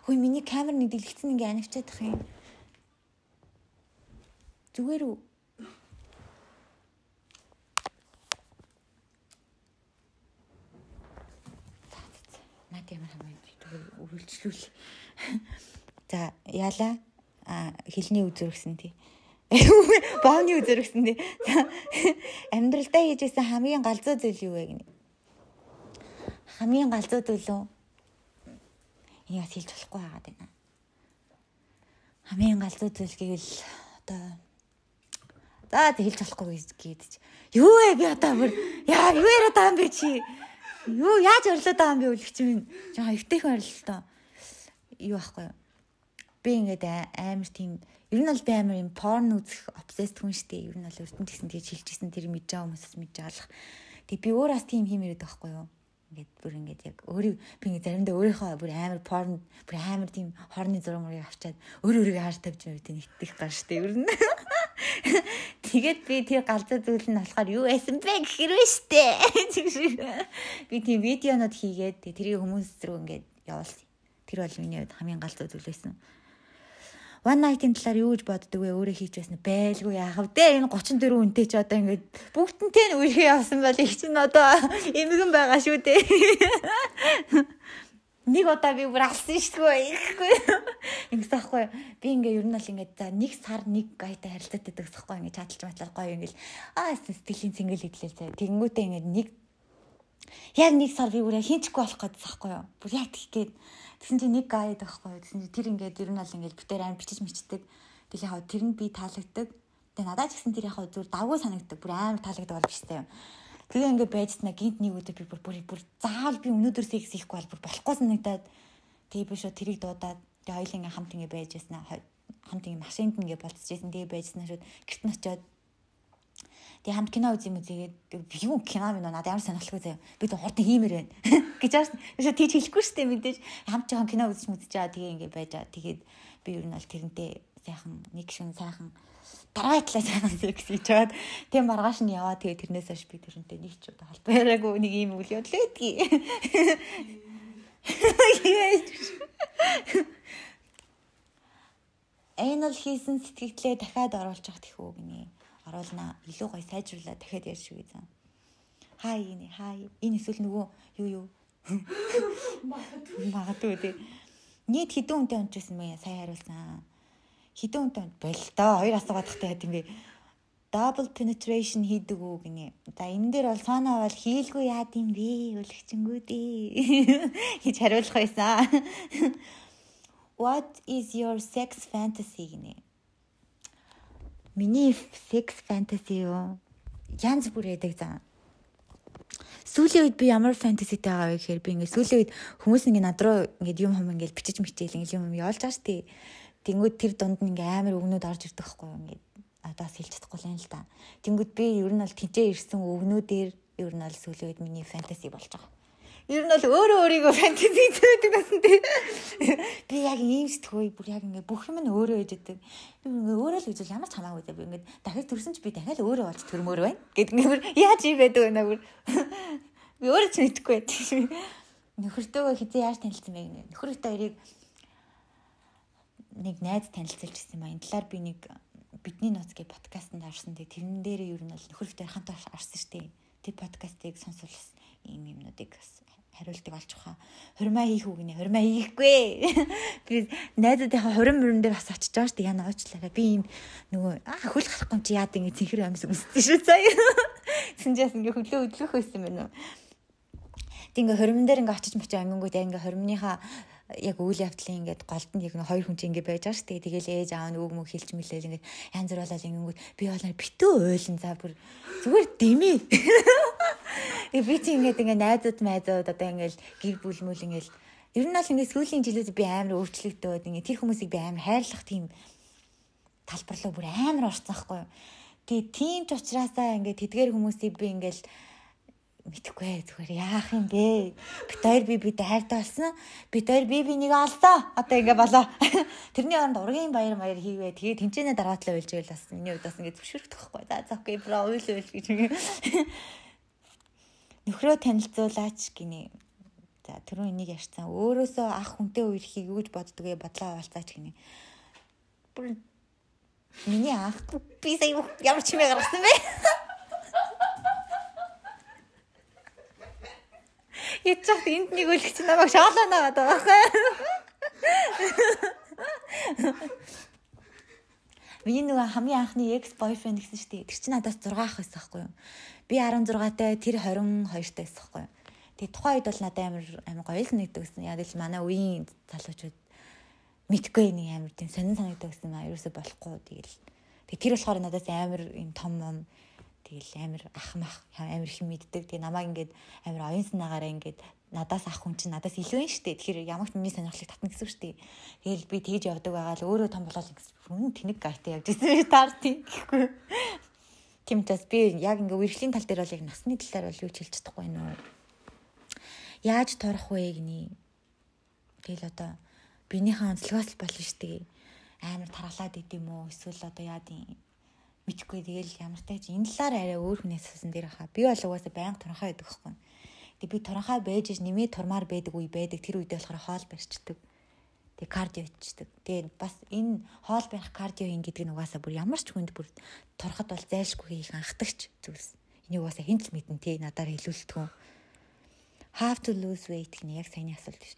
Хөөе миний камер нэг дэлгэцэн ингээ анивчаад тах юм. Зүгээр үү? Наад ямар хамаа үргэлжлүүл. За яалаа хилний үзүүргсэн тий. Боогны үзүүргсэн тий. Амьдралдаа хийжсэн хамгийн галзуу зүйл юу вэ гэнэ? Хамгийн галзуу зүйл үү? Энийг хэлж болохгүй байгаад байна. Хамгийн галзуу зүйл гэвэл одоо за хэлж болохгүй гэдэг. Юу вэ би одоо бүр яа юу яриад байгаа юм бэ чи? Юу яаж орлоод байгаа юм бэ үлгч минь? Жаа эвтэйхэн орлоо. Юу ахгүй юу? Би ингээд амар тийм ер нь бол би амар юм порн үзэх обсесд хүн штэ. Ер нь бол өртөнд гэсэн тэгж хэлчихсэн тэр мэдж байгаа хүмүүсээс мэдж аалах. Тэг би өөрөөс тийм хиймээрээд байхгүй юу? Ингээд бүр ингээд яг өөрийг би ингээд заримдаа өөрийнхөө бүр амар порн бүр амар тийм хорны зураг мөрийг авчаад өөрийгөө хааж тавьж байв тийм итгэх гар штэ. Ер нь тэгээд би тэр галзуу зүйл нь болохоор юу байсан бэ гэхэрвэ штэ. Би тийм видеонод хийгээд тэрийг хүмүүс рүү ингээд явуулсан. Тэр бол миний хувьд хамгийн галзуу зүйл байсан. One night-ийн талаар юу гэж боддөг вэ? Өөрөө хийж байсан байлгүй яах вэ? Энэ 34 үнэтэй ч одоо ингээд бүгднтэй нь үерхээ явсан бол их чинь одоо эмгэн байгаа шүү дээ. Нэг удаа би бүр алсан шүү дээ. Ингэсэн байхгүй. Би ингээд ер нь бол ингээд за нэг сар нэг гайтай харилцаад байдаг гэсэхгүй ингээд чадалж матлал гоё ингээд сэтгэлийн цэнгэл идлээ заа. Тэгэнгүүтээ ингээд яг нэг сар би бүрээ хинчгүй болох гэдсэн байхгүй юу? Бүр яг тийх гээд тэгсэн чинь нэг гайд байхгүй юу? Тэгсэн чинь тэр ингээд ер нь бол ингээд бүтээр амар бичиж мичдэг. Тэгэл яг тэр нь би таалагддаг. Тэгээ надад ч гэсэн тэр яг зүгээр давгүй санагддаг. Бүр амар таалагддаг бол биш таа юм. Тэгээ ингээд байжснаа гинт нэг өдөр би бүр заавал би өнөөдөр секс хийхгүй бол бүр болохгүй санагдаад тэгээ би шууд тэрийг дуудаад тэгээ хоёул ингээд хамт ингээд байж яснаа хамт ингээд машинд ингээд болцчихсэн. Тэгээ байжснаа шууд гэрт нь очиод тэгээ хамт кино үзье юм үзээгээд юу кино минь надад ямар сонирхолтой заяа. Би тэг хурдан хиймээр байна гэж аарсан. Тийш тийч хэлэхгүй штэ мэдээж хамт жоохон кино үзэж мэдчихээ тэгээ ингээд байж байгаа. Тэгээд би ер нь бол тэрнтэй сайхан нэг шин сайхан дараатлаа сайхан секс хийж чаад тэг маргааш нь яваа тэгээ тэрнээс хойш би тэрнтэй нэг ч удаа холбоо яриаггүй нэг юм үйл явдал байдгийг. Энэ л хийсэн сэтгэлдээ дахиад оруулж явах тэхүү гинэ. Оруулнаа илүү гоё сайжруулаад дахиад ярьж шүү гэсэн. Хай энэ хай. Энэ эсвэл нөгөө юу магадгүй дээ. Нийт хэдэн үнэтэй унжсэн мэ сая хариулсан. Хэдэн үнэтэй боль доо. Хоёр асуугаад тахтай яд юм бэ. Double penetration хийдэг үү гинэ. За энэ дээр бол сооноо бол хийлгүй яад юм бэ? Өлгчэнгүү дээ. Гэж хариулах байсан. What is your sex fantasy гинэ. Миний sex fantasy юу? Янз бүр яадаг заа. Сүүлийн үед би ямар фэнтезитэй байгаа вэ гэхээр би ингээд сүүлийн үед хүмүүс ингээд над руу ингээд юм ингээд бичиж мичээл ингээд юм явуулж байгаа штий. Тэнгүүд тэр дунд нь ингээд амар өгнүүд орж ирдэг байхгүй юу ингээд надаас хэлж чадахгүй юм л да. Тэнгүүд би ер нь бол тэнцээ ирсэн өгнүүдээр ер нь бол сүүлийн үед миний фэнтези болж байгаа. Ер нь бол өөрөө өөрийгөө фэнтези хийдэг гэсэн тий. Би яг ийм сэтггүй бүр яг ингээ бүх юм нь өөрөө ээж идэг. Би ингээ өөрөө л үзэл ямар ч хамаагүй дээ. Би ингээ дахиж төрсөн ч би дахиад өөрөө болж төрмөр байна. Гэт ингээ яаж ийм байдаг вэ наа бүр. Би өөрөө ч мэдэхгүй байт. Нөхөртөөгөө хизээ яаж танилцсан бэ гэнэ. Нөхөртөө хоёрыг нэг найз танилцуулж ирсэн ба энэ талаар би нэг бидний нууц гэх подкастт орсон. Тэрэн дээр ер нь бол нөхөртөө хамт орсон штеп. Тэр подкастыг сонсвол ийм юмнуудыг хариултыг олж ухаа. Хурмаа хийх үг нэ. Хурмаа хийхгүй. Би найзуудынхаа хурим мөрөн дээр бас очиж байгаа шүү дээ. Яна уучлаарай. Би ийм нөгөө хөл гарахгүй чи яад ингэ цэнхэр амьс өмссөн шүү цаа. Синжээс ингэ хөлөө өдлөх байсан байна уу? Тэг ингээ хурим дээр ингээ очиж мочиж ангингууд ингээ хуримныхаа яг үйл явдлын ингээд голд нь яг хоёр хүн чинь ингээд байж байгаа шүү дээ. Тэгэл ээж аав нь үг мөг хэлж мэлээл ингээд янз бүр болол ингэнгүүт би болоо битүү ойлон за бүр зүгээр дэмий. Би чинь ингээд найзууд одоо ингээд гэр бүл мүл ингээд ер нь бол ингээд сүүлийн жилүүд би амар өөрчлөгдөөд ингээд тэр хүмүүсийг би амар хайрлах тийм талбар руу бүр амар орсон байхгүй юу. Тэгээ тийм ч учраас ингээд тэдгээр хүмүүсийг би ингээд мэдхгүй зүгээр яах юм бэ? Бид хоёр би хайртай болсон. Бид хоёр би нэг олдоо. Одоо ингэ болоо. Тэрний оронд ургийн баяр хийвээ. Тэгээ тэмцээнэ дараатлаа үйлж байл бас миний хувьд бас ингэ зөвшөөрөх тахгүй. За окей бро уйл гэж. Нөхрөө танилцуулаач гинэ. За түрүү энийг ярьсан. Өөрөөсөө ах хүнтэй үерхийг юу гэж боддгоо бодлоо авалцаач гинэ. Бүр миний ах би сая ямар ч юм гаргасан бэ? Ячаад энд нэг үлгч намайг шаалаа наваад байгаа хэ. Миний нөгөө хамгийн анхны ex boyfriend гэсэн шүү дээ. Тэр чинь надаас 6 ах байсан байхгүй юу? Би 16-тай, тэр 22-тай байсан байхгүй юу? Тэгээ тухайн үед бол надад амар гоё л нэгдэг гэсэн. Яг л манай үеийн залуучууд мэдгүй нэг амар тийм сонин санагддаг гэсэн маа ерөөсөй болохгүй тэгэл. Тэгээ тэр болохоор надаас амар юм том юм тэгэл амар ахмах амар их мэддэг. Тэгээ намайг ингээд амар оюун санаагаараа ингээд надаас ах хүн чинь надаас илүү юм штэ. Тэгэхээр ямар ч миний сонирхлыг татна гэсэн штэ. Тэгэл би тэгж явдаг байгаа л өөрөө том болол гэсэн тэнэг гайтай явж ирсэн таарти гэхгүй. Тийм ч бас би яг ингээд үргэлжлийн тал дээр бол яг насны талаар бол юу ч хэлж чадахгүй нөө. Яаж торох вэ гинэ. Тэгэл одоо биенийхээ онцлогоос л болно штэ. Амар тархалаад идэм үү эсвэл одоо яад юм мэдхгүй тэгэл ямар тач энэ талаар арай өөр хүнээс асуусан дээр хаа. Би бол угаасаа байнга туранхай байдаг байхгүй. Тэг би туранхай байж нэмээ турмаар байдаг үе байдаг. Тэр үедээ болохоор хоол барьчдаг. Тэг кардио хийдэг. Тэгээд бас энэ хоол барих кардио хийн гэдэг нь угаасаа бүр ямар ч хүнд бүр турхад бол зайлшгүй хийх анхдагч зүйлс. Энийг угаасаа хэн ч мэдэн тий надаар хэлүүлдэг. Have to lose weight гэх нь яг саяны асуулт биш.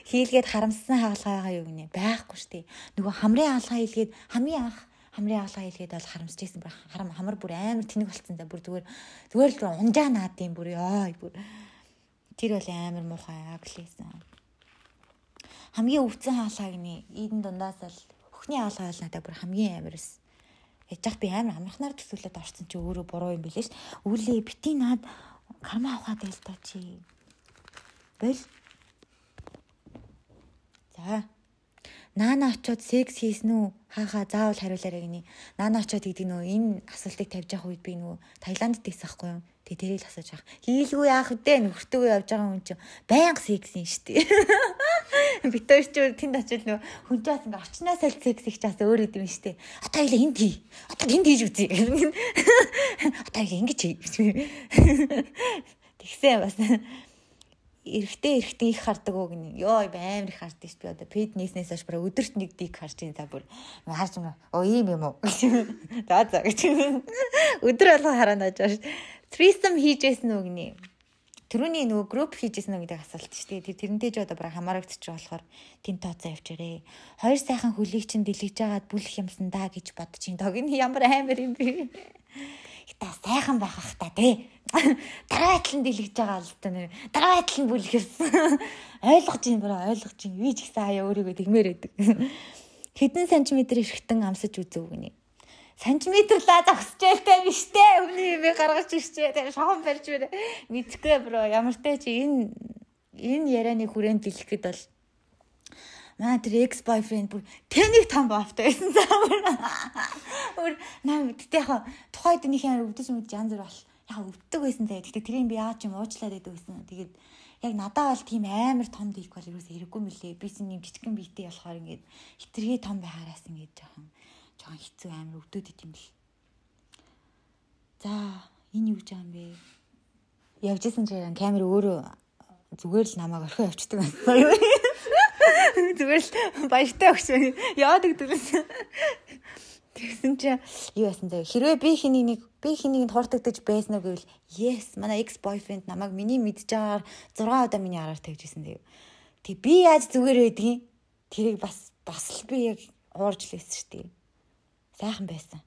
Хийлгээд харамссан хаалгаа юу гинэ байхгүй штий. Нөгөө хамрын хаалгаа хийлгээд хамгийн анх хамрын хаалгаа хийлгээд бол харамсаж байсан бүр хамар бүр амар тэнэг болцсон да бүр зүгээр л унжаа наад юм бүр ёо бүр тэр бол амар муухай аглээсэн. Хамгийн өвцөн хаалгаа гинэ энэ дундаас л хөхний хаалгаа бол надад бүр хамгийн амарс. Яж би амар амархнаар төсөөлөд орсон чи өөрөө буруу юм билээ ш. Үлээ бити наад карма авахад байл та чи. Бэл. За. Наана очоод секс хийсэн үү? Хаахаа заавал хариулаарай гинэ. Наана очоод гэдэг нөө энэ асуултыг тавьж явах үед би нөө Таиландд байсан байхгүй юу? Тэгээ тэрийг л асууж байгаа. Хийлгүй яах вэ? Нөхөртөөгөө явж байгаа хүн чинь байнга секс юм штий. Бид хоёр ч тэнд очил нөө хүнчээс ингээ орчноо салт секс их чаас өөр идэв юм штий. Одоо хоёлаа энд хий. Одоо тэнд хийж үзье. Одоо ингэж хий. Тэгсэн бас эрэгтэй их хардаг уу гинэ. Йоо амар их хардаг шүү. Би одоо фитнеснээс хойш бүр өдөрт нэг дик харж ин за бүр харж юм. Ийм юм уу? За гэж. Өдөр болго хараад байж байгаа шүү. Threesome хийжсэн үү гинэ. Тэрүүний нөгөө групп хийжсэн үү гэдэг асуулт шүү. Тэрнтэй ч одоо бүр хамаарагдчих болохоор тэн тооцоо явчаарэ. Хоёр сайхан хөлийг чинь дэлгэж агаад бүлэх юмсан даа гэж бодчих. Дог энэ ямар амар юм бэ? Та сайхан байх ах та тий. Дараа талын дэлгэж байгаа л та нэр. Дараа талын бүлэх юмсан. Ойлгож юм байна, ойлгож юм. Би ч гэсэн хаяа өөрийгөө тэгмээр байдаг. Хэдэн сантиметр эрхтэн амсаж үзв гинэ. Сантиметрлаа зогсчихэлтэй биш те. Өмнө юм гаргаж ирчээ. Тэгээ шохон барьж байна. Мэдхгүй бро. Ямар ч чи энэ ярианы хүрээнд дэлгэхэд бол маа тэр ex boyfriend бүр тэнийг том бафтай байсан заавар. Өөр наа мэдтэй яхаа тухайд нэг юм өвдөж янз бүр бол яа өвддөг байсан заяа. Тэгтээ тэрийг би яаж юм уучлаад байдаг байсан. Тэгээд яг надад бол тийм амар том дийлэх бол ерөөсөө хэрэггүй мөлий. Би чинь юм жижигхэн биетэй болохоор ингээд хитрхи том байхаараас ингээд жоохон хэцүү амар өвдөд идэм бил. За энэ юу гэж байгаа юм бэ? Явжсэн чинь камер өөрөө зүгээр л намайг орхио явчихдаг байсан. Зүгээр л баяртай өгч яадаг дөрөсөн. Тэгсэн чинь юу яасан заяа. Хэрвээ би хэнийг хууртагдаж байсан уу гэвэл yes манай ex boyfriend намайг миний мэдж байгаагаар 6 удаа миний араар тавьжсэн заяа. Тэг би яаж зүгээр байдгийг тэрийг бас л би яг уурж лээсэн шүү дээ. Сайхан байсан.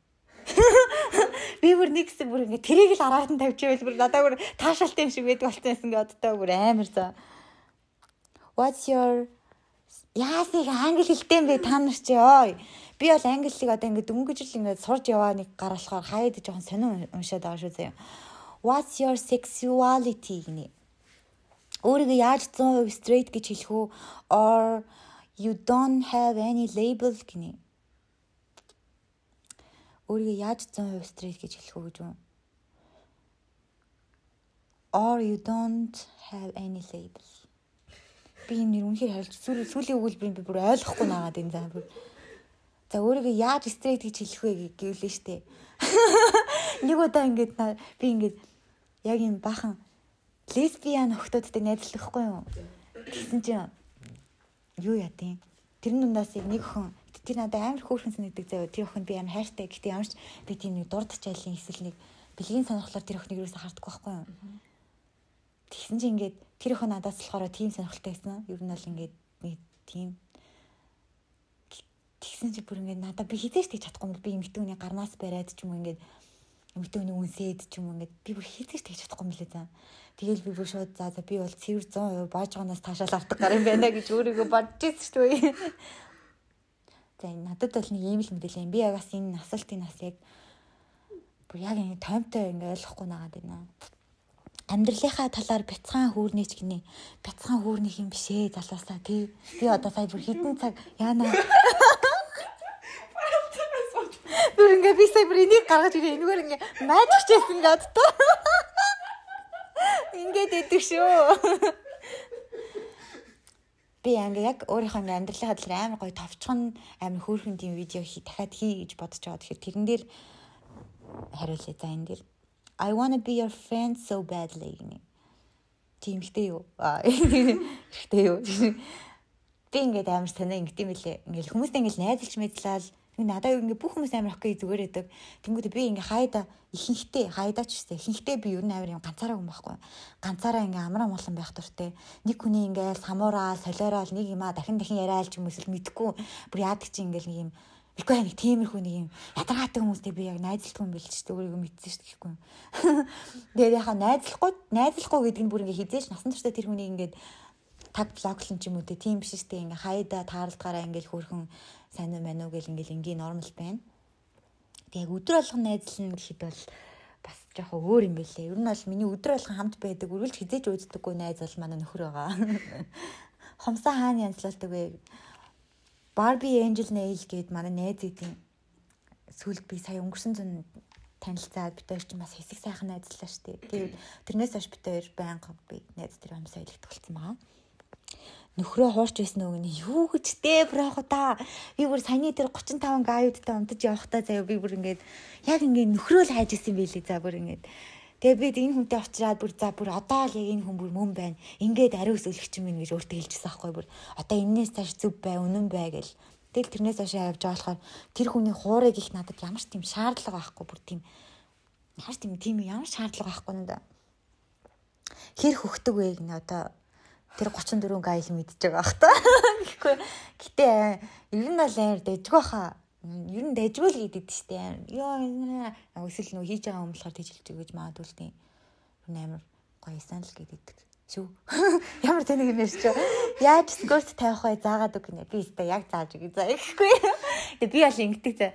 Би бүр нэгсэн бүр ингэ тэрийг л араад нь тавьчихвэл бүр надад бүр таашаалт юм шиг байдаг болсон гэсэн гээ одтой бүр амар за. What's your яасыг англи хэлтэй юм бэ та нар чи ой. Би бол англиг одоо ингэ дөнгөж л ингэ сурж яваа нэг гараалахаар хаяад жоохон сонин уншаад байгаа шүү заяа. What's your sexuality гинэ. Өөрийгөө яаж 100% straight гэж хэлэх үү or you don't have any label гинэ. Өөрийгөө яаж 100% straight гэж хэлэх үү гэж үү? Or you don't have any label. Би энэ үнэхээр харилж сүүлийн өгүүлбэрийг би бүр ойлгохгүй наагаад энэ заа бүр. За өөрийгөө яаж straight гэж хэлэх вэ гэвлээ штэ. Нэг удаа ингээд би ингээд яг юм бахан лесбиан охтуудтай найзлахгүй юу? Тэгсэн чинь юу яа тийм. Тэр нүндээс нэг охин тэр надад амар хөөрхөн санагддаг заяа. Тэр охин би амар хайртай. Гэтэ ямарч би тийм нэг дурдч айлын эсвэл нэг бэлгийн сонирхлоор тэр охиныг юусаа харддаг байхгүй юу? Тэгсэн чинь ингээд тэр охин надаас болохоор тийм сонирхолтой байсан. Ер нь бол ингээд нэг тийм тэгсэн чи бүр ингээд надад би хизээч тэгж чадахгүй юм би эмэгтэйний гарнаас бариад ч юм уу ингээд эмэгтэйний үнсээд ч юм уу ингээд би бүр хизээч тэгж чадахгүй юм лээ за. Тэгэл би бүр шууд за би бол цэвэр 100% баажгаанаас таашаал авдаг гар юм байна гэж өөрийгөө бодож ирсэн шүү дээ. За надад бол нэг ийм л мэдээлэл юм. Би ягаас энэ асуултын нас яг бүр яг ингэ томтой ингэ ойлгохгүй нагаад байна. Амьдралынхаа талаар бяцхан хүүрнийч гинэ. Бяцхан хүүрнийх юм бишээ залуусаа тий. Би одоо сая бүр хитэн цаг яана. Бүр ингэ би сая бүр энийг гаргаж ирээ. Энэгээр ингэ майжч чийсэн гээд тоо. Ингээд идэв шүү. Би яг өөрийнхөө амьдралынхаа талаар амар гоё товчхон амар хөөрхөн тийм видео дахиад хий гэж бодож байгаа. Тэгэхээр тэрэн дээр хариулъя за энэ дээр I wanna be your friend so badly гинэ. Тийм ихтэй юу? Ихтэй юу? Би ингээд амар санаа ингэдэм билээ. Ингээл хүмүүстэй ингээл найзалж мэдлээ. Надад ингээ бүх хүмүүс амар охей зүгээр байдаг. Тэнгүүд би ингээ хайда ихэнхдээ хайдаач штэ. Ихэнхдээ би ер нь амар юм ганцаараа хүн байхгүй. Ганцаараа ингээ амраа молон байх дуртай. Нэг хүний ингээл самуураа, солиороо нэг юмаа дахин яриаал ч юм эсвэл мэдгүй. Бүр яадаг чи ингээл нэг юм ихгүй нэг тиймэрхүү нэг юм ядаргаатай хүмүүстэй би яг найзлахгүй юм билж штэ. Өөрийгөө мэдсэн штэ гэхгүй. Тэгээд яхаа найзлахгүй гэдэг нь бүр ингээ хизээш насан туршдаа тэр хүнийг ингээд таг блоклон ч юм уу тийм биш штэ. Ингээ хайда таарлтгаараа ингээл хөөрхөн сайн уу мань уу гэл ингээл ингийн нормал байна. Тэг яг өдөр болгон найзлна гэхэд бол бас жоохон өөр юм байлээ. Ер нь бол миний өдөр болгон хамт байдаг, үргэлж хизээж өөддөггүй найз бол манай нөхөр байгаа. Хомсоо хаана янзлуулдаг вэ? Barbie Angel Nail гээд манай найз идэв. Сүүлд би сая өнгөрсөн зун танилцаад бид хоёр ч бас хэсэг сайхан найзлаа штэ. Тэгээд тэрнээс хойш бид хоёр байнга би найз тэр амсаа илэгдэх болсон байгаа. Нөхрөө хуурч байсан үг нь юу гэж дээ брохо та. Би бүр саяны тэр 35 гааюудтай унтаж явахдаа заяа би бүр ингээд яг ингээд нөхрөө л хайж исэн байлээ за бүр ингээд. Тэгээ би энэ хүнтэй очираад бүр за бүр одоо л яг энэ хүн бүр мөн байна. Ингээд ариус өлөгч юм гэж өөртөө хэлчихсэн аахгүй бүр. Одоо энээс цааш зүв бай, үнэн бай гэл. Тэгэл тэрнээс хойш явж байгаа болохоор тэр хүний хуурыг их надад ямар ч тийм шаардлага байхгүй бүр тийм ямар шаардлага байхгүй надаа. Хэр хөхдөг вэ гэнэ одоо тэр 34 гайл мэдчихэж байгаа бах та. Гэхгүй. Гэтэ ер нь бол амар дэжгүй хаа. Ер нь дэжгүй л гэдэг штэ. Йоо эсвэл нөө хийж байгаа юм болохоор тэжилж өгөөж магадгүй л тийм. Ер нь амар гоё сан л гэдэг шүү. Ямар тэнэг юм ярьж байгаа. Яаж скорт тавих вэ заагаад үг гинэ. Би өстой яг зааж өгье заа гэхгүй. Тэгээ би бол ингэдэг за.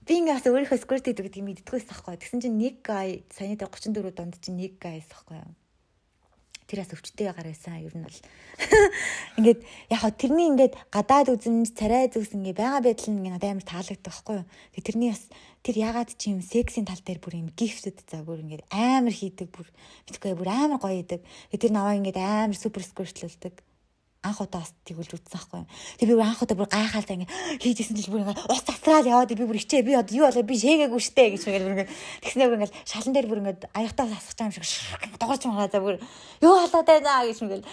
Би ингээс өөрийнхөө скорт хийдэг гэдгийг мэддэггүйс тахгүй. Тэгсэн чинь нэг гай саяны 34 донд чинь нэг гайс тахгүй юу. Тэрээс өвчтэй гарсан ер нь бол ингээд яг хаа тэрний ингээд гадаад үзэмж царай зүс ингээ байгаа байдал нь ингээ надад амар таалагддаг байхгүй юу. Тэгээ тэрний бас тэр ягаад ч юм сексийн тал дээр бүр юм гифтэд за бүр ингээд амар хийдэг бүр мэдгүй бүр амар гоё идэг. Тэр наваа ингээд амар супер сквиртлүүлдэг. Анх удаас тэгүүлж үзсэн байхгүй юу. Тэг би бүр анх удаа бүр гайхалтай ингээд хийжсэн чинь бүр ингээд ус цацраал яваад би бүр ичээ би одоо юу болоо би шээгээгүй штэ гэж ингээд бүр ингээд тэгснээр бүр ингээд шалан дээр бүр ингээд аягтаа сасгаж байгаа юм шиг дуурч маргаа за бүр юу халаад байна гэж ингээд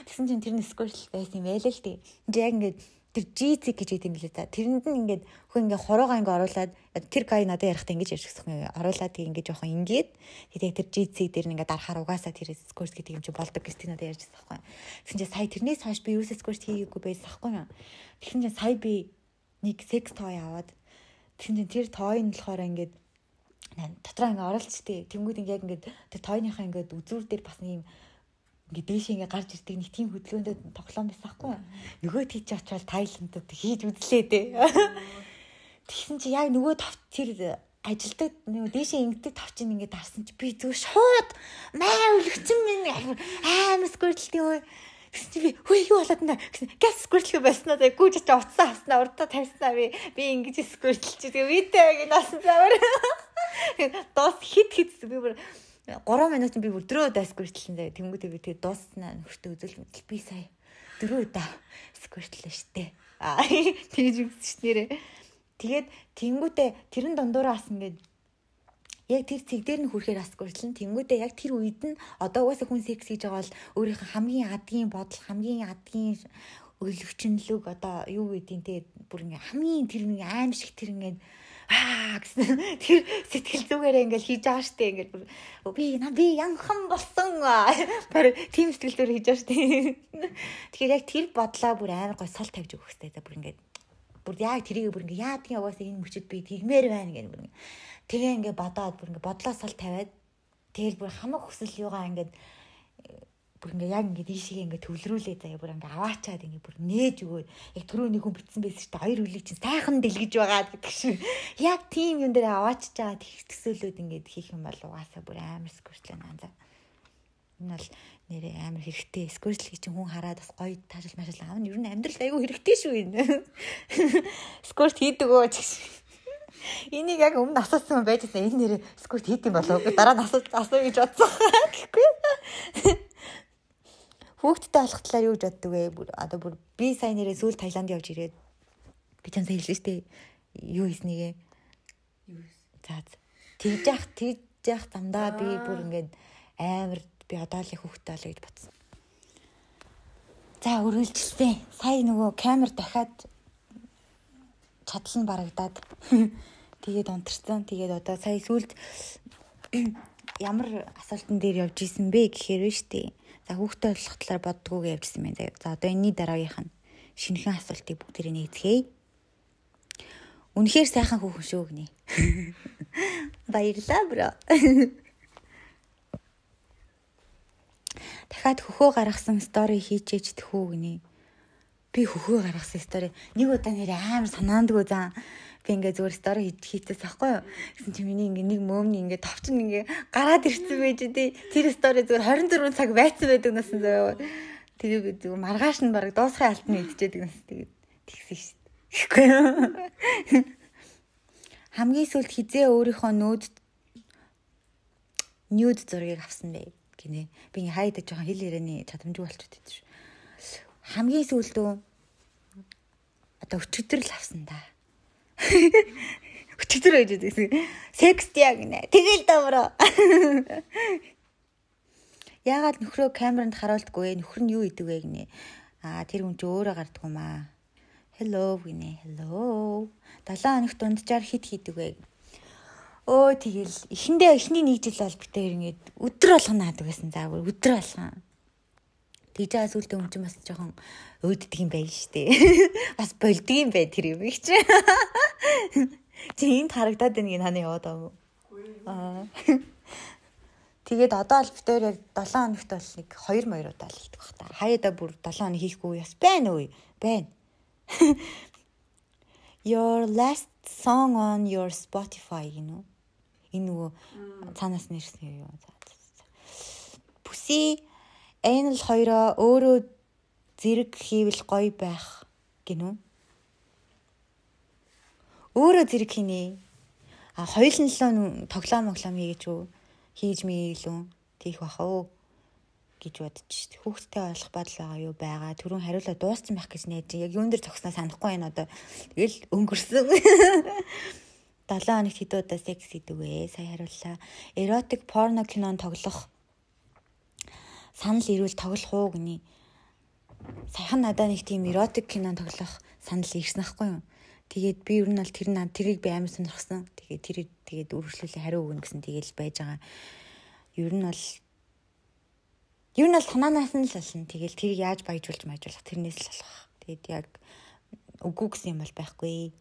тэгсэн чинь тэр нь сквиртл байсан юм байл л тий. Яг ингээд тэр GC гэж гэдэг юм лээ та. Тэрэнд нь ингээд хөө ингээд хорогоо ингээд оруулаад тэр гай надад ярихтаа ингэж ярьчихсан юм. Оруулаад тэг ингээд жоохон ингээд тэгээд тэр GC дээр нь ингээд дарахаар угаасаа тэр скорт гэдэг юм чи болдог гэж тийм надад ярьжсэн байхгүй. Тэгсэн чинь сая тэрнээс хойш би юусаа скорт хийгээгүй байсан байхгүй юу. Тэгсэн чинь сая би нэг секс той аваад тэгсэн чинь тэр той нь болохоор ингээд дотроо ингээд оролцтой. Тэнгүүд ингээд яг ингээд тэр тойныхаа ингээд үзүүр дээр бас нэг юм ингээд дээш ингээд гарч ирдэг нэг тийм хөдөлгөөнд тоглоом байсан байхгүй юу. Нөгөө тийч очивол Тайландд хийж үзлээ дээ. Тэгсэн чи яг нөгөө тавт тэр ажилдаг нөгөө дээшээ ингэдэг тавчин ингээд дарсан чи би зүгээр шууд маа өлөгчөн минь амар сквиртлтэй өө. Тэгсэн чи би хөө юу болоод нэ газ сквиртлгүй байснаа за гүйж очиж уцсан хаснаа урдаа тавьснаа би ингэж сквиртлж тэгээ видеог нь насан завар. Дос хит би бүр 3 минут би бүр 4 удаа сквиртлэн заяа. Тэнгүүдээ би тэгээ дууснаа нөхөртөө үзэл мэтэл би сая 4 удаа сквиртлээ штэ. Тэгж үзсэн нэрээ. Тэгээд тэнгүүдээ тэрэн дундууraa бас ингээд яг тэр цэг дээр нь хүрэхээр бас сквиртлэн. Тэнгүүдээ яг тэр үед нь одоо угаасаа хүн секс хийж байгаа бол өөрийнх нь хамгийн адгийн бодол, хамгийн адгийн өлөвчнөлөг одоо юу гэдгийг те бүр ингээ хамгийн тэр нэг аим шиг тэр ингээ гэсэн тэр сэтгэл зүгээрээ ингээл хийж байгаа штэ ингээл би янхан болсон тэр тийм сэтгэл зүгээр хийж байгаа штэ. Тэгэхээр яг тэр бодлоо бүр амар гой сал тавьж өгөх хэрэгтэй за бүр ингээд бүр яг тэрийг бүр ингээ яадгийн угаасаа энэ мөчөд би тэгмээр байна гэх бүр тэгээ ингээ бодоод бүр ингээ бодлоо сал тавиад тэгэл бүр хамаг хүсэл юугаа ингээд бүр ингээ яг ингээ ийшээ ингээ төвлөрүүлээ заяа бүр ингээ аваачаад ингээ бүр нээж өгөөд яг түрүүний хүн битсэн байсан шүү дээ хоёр үлийг чинь сайхан дэлгэж байгаа гэдэг шиг яг тийм юм дээр аваачж байгаа тэгсэлүүд ингээ хийх юм бол угаасаа бүр амар сквиртлээ наа. Энэ бол нэрээ амар хэрэгтэй сквиртл гэж хүн хараад бас гоё таашаал машаал аав нь ер нь амьдрал айгүй хэрэгтэй шүү энэ. Сквирт хийдэг өө гэж. Энийг яг өмнө асуусан байж байгаа энэ нэрээ сквирт хийдэг болов уу дараа нь асуу гэж бодсон гэхгүй. Хүүхдтэй болох талаар юу гэж боддог вэ? Одоо бүр би сая нэрээ сүүл Таиланд явж ирээд би ч хэлсэн шүү дээ. Юу хийснийгээ. Юу хийсэн? За тэгж яах замдаа би бүр ингээд амар би одоо л хүүхдтэй болоо гэж бодсон. За өргөлжилсэн. Сая нөгөө камер дахиад чадал нь барагдаад тэгээд унтарсан. Тэгээд одоо сая сүүлд ямар асуултан дээр явж исэн бэ гэхээр вэ штэ. За хүүхдтэй болох талаар боддгоогээ явжсэн байна. За одоо энэний дараагийнх нь шинэхэн асуултыг бүгдээрээ нээцгээе. Үнэхээр сайхан хүүхэн шүү гинэ. Баярлалаа бро. Дахиад хөхөө гаргасан стори хийчээж тэхүү гинэ. Би хөхөө гаргасан стори нэг удаа нэр амар санаандгүй заа. Би ингээ зүгээр стори хийчихээс байхгүй юу. Гэсэн чи миний ингээ нэг мөөмний ингээ товчин ингээ гараад ирсэн байж дээ. Тэр стори зүгээр 24 цаг байцсан байдаг насан заяа. Тэгээ би зүгээр маргааш нь баг дуусахын алтны идчихэдэг нас тэгээд тэгсэн шүү дээ. Гэхгүй юу. Хамгийн сүүлд хизээ өөрийнхөө нюд зургийг авсан бэ гинэ. Би ингээ хайдаг жоохон хэл ярианы чадамжгүй болчиход байд шүү. Хамгийн сүүлдөө одоо өчигдөр л авсан да. Өчигдөр гэж үзсэн. Секст яг нэ. Тэгэл давраа. Яагаад нөхрөө камеранд харуулдаггүй вэ? Нөхөр нь юу идэг вэ гинэ. Тэр хүн чи өөрөө гарддаг юм аа. Hello гинэ. Hello. 7 хоногт дунджаар хит хийдэг вэ? Өө тэгэл эхний нэг жил бол битээр ингээд өдөр болгоно наадаг байсан. За өдөр болгоно. Тэгж байгаа сүлдээ юм чи бас жоохон өөддөг юм байна штэ. Бас болдго юм бай тэр юм их чи. Чи энд харагдаад байна гин хана яваад байгаа юм. Тэгээд одоо л битээр яг 7 хоногт бол нэг 2 удаа л хийдэг бах та. Хаяада бүр 7 хоног хийхгүй яс байна уу? Байна. Your last song on your Spotify гинөө. Энэ нөгөө цаанаас нэрсэн юу? Бүси энэ л хоёроо өөрөө зэрэг хийвэл гоё байх гинөө. Өөрөө зэрэг хийнэ. хоёулын тоглоом хийж үү хийж мэйлүү тийх баха уу гэж бодож шít. Хүүхдтэй болох бодол байгаа юу байгаа. Түрүүн хариулаа дууссан байх гэж найж. Яг юун дээр зогсноо санахгүй байна одоо. Тэгэл өнгөрсөн. 7 хоногт хэд удаа секс хийдэг вэ? Сая хариуллаа. Эротик порно кинон тоглох санал ирвэл тоглох уу гинэ. Саяхан надад нэг тийм эротик кинон тоглох санал ирсэн ахгүй юу? Тэгээд би ер нь бол тэрийг би амар сонирхсан. Тэгээд үргэлжлүүлээ хариу өгнө гэсэн тэгээл байж байгаа. Ер нь бол санаанаас нь л болно. Тэгэл тэрийг яаж баяжуулж тэрнээс л болох. Тэгээд яг үгүй гэсэн юм бол байхгүй.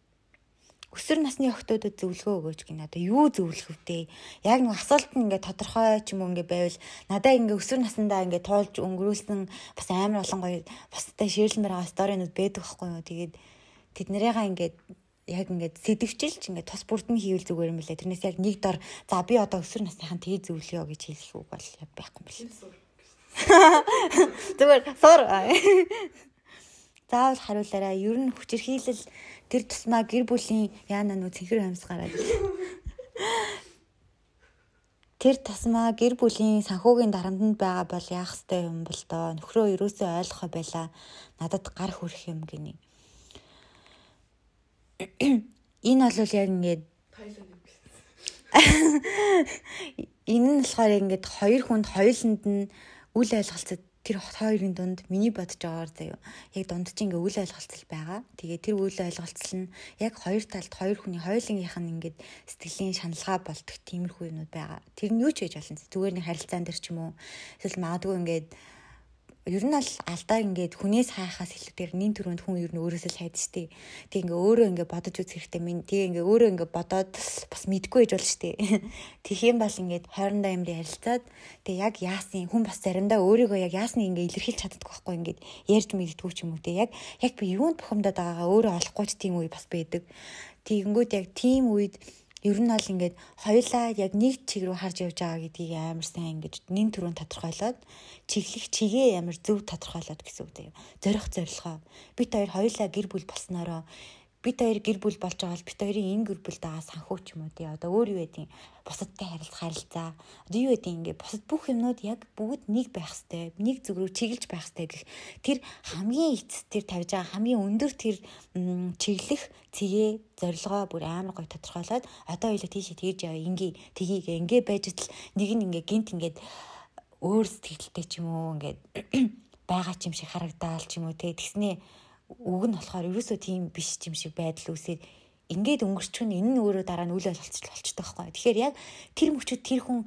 Өсвөр насны охтуудад зөвлөгөө өгөөч гинэ. Одоо юу зөвлөх вүтэй? Яг нэг асуулт нь ингээд тодорхой ч юм уу ингээд байвал надаа ингээд өсвөр наснаа ингээд тоолж өнгөрүүлсэн бас амар олон гоё бусдад шеэрлэмээр байгаа сторинууд байдаг байхгүй юу? Тэгээд тэд нарыгаа ингээд яг ингээд сэдвчилж ингээд тус бүрд нь хийвэл зүгээр юм билээ. Тэрнээс яг нэг дор за би одоо өсвөр насныхан тэгээ зөвлөё гэж хэлэх үг бол яг байхгүй юм билээ. Зүгээр суур. Заавал хариулаарай. Ер нь хүчирхийлэл тэр тусмаа гэр бүлийн яана нүү цэнхэр хамс гараад. Тэр тусмаа гэр бүлийн санхүүгийн дарамтнд байгаа бол яах ёстой юм бол доо. Нөхрөө ерөөсөө ойлгохоо байла. Надад гар хүрэх юм гинэ. Энэ бол яг ингээд энэ нь болохоор ингээд хоёр хүнд хоёуланд нь үл ойлголцод тэр хоёрын дунд миний бодож байгаагаар заяа яг дунд чинь ингээ үл ойлголцол байгаа. Тэгээ тэр үл ойлголцол нь яг хоёр талд хоёр хүний хоёулынгийнх нь ингээд сэтгэлийн шаналгаа болдог тиймэрхүү юмуд байгаа. Тэр нь юу ч хийж болно. Зүгээр нэг харилцаан дээр ч юм уу эсвэл магадгүй ингээд ер нь бол алдаа ингээд хүнээс хайхаас илүүгээр нин төрөнд хүн ер нь өөрөөсөө л хайдаг штеп. Тэг ингээ өөрөө ингээ бодож үзэх хэрэгтэй. Тэг ингээ өөрөө ингээ бодоод бас мэдгүй гэж болно штеп. Тэгэх юм бол ингээд хоорондоо юм ярилцаад тэг яг яасан хүн бас заримдаа өөрийгөө яг яасны ингээ илэрхийлж чаддаггүй байхгүй ингээд ярьж мэддэггүй ч юм уу тэг. Яг би юунд бухимдаад байгаагаа өөрөө олохгүй ч тийм үе бас байдаг. Тэгэнгүүт яг тийм үед ер нь бол ингээд хоёулаа яг нэг чиг рүү харж явж байгаа гэдгийг амар сайн ингэж нин төрөнд тодорхойлоод чиглэх чигээ амар зөв тодорхойлоод гэсэн үг дээ. Зорилгоо. Бид хоёулаа гэр бүл болсноороо бид хоёр гэр бүл болж байгаа бол бид хоёрын энэ гэр бүлд байгаа санхүү ч юм уу тий. Одоо өөр юу байдیں۔ Бусадтай харилцаа. Одоо юу байдیں۔ Ингээд бусад бүх юмнууд яг бүгд нэг байх хэвээр, нэг зүг рүү чиглэж байх хэвээр гэх тэр хамгийн эцэс тэр тавьж байгаа хамгийн өндөр тэр чиглэх цэгээ зорилгоо бүр амар гоё тодорхойлоод одоо хоёулаа тийшээ тэгж яваа ингээ байж тал нэг нь ингээ гинт ингээд өөр сэтгэлтэй ч юм уу ингээд байгаа ч юм шиг харагдаал ч юм уу тий. Тэгснээ үг нь болохоор ерөөсөө тийм биш юм шиг байдал үүсээд ингээд өнгөрчхөн энэ нь өөрөө дараа нь үл ойлголцол болчихдог байхгүй. Тэгэхээр яг тэр мөчөд тэр хүн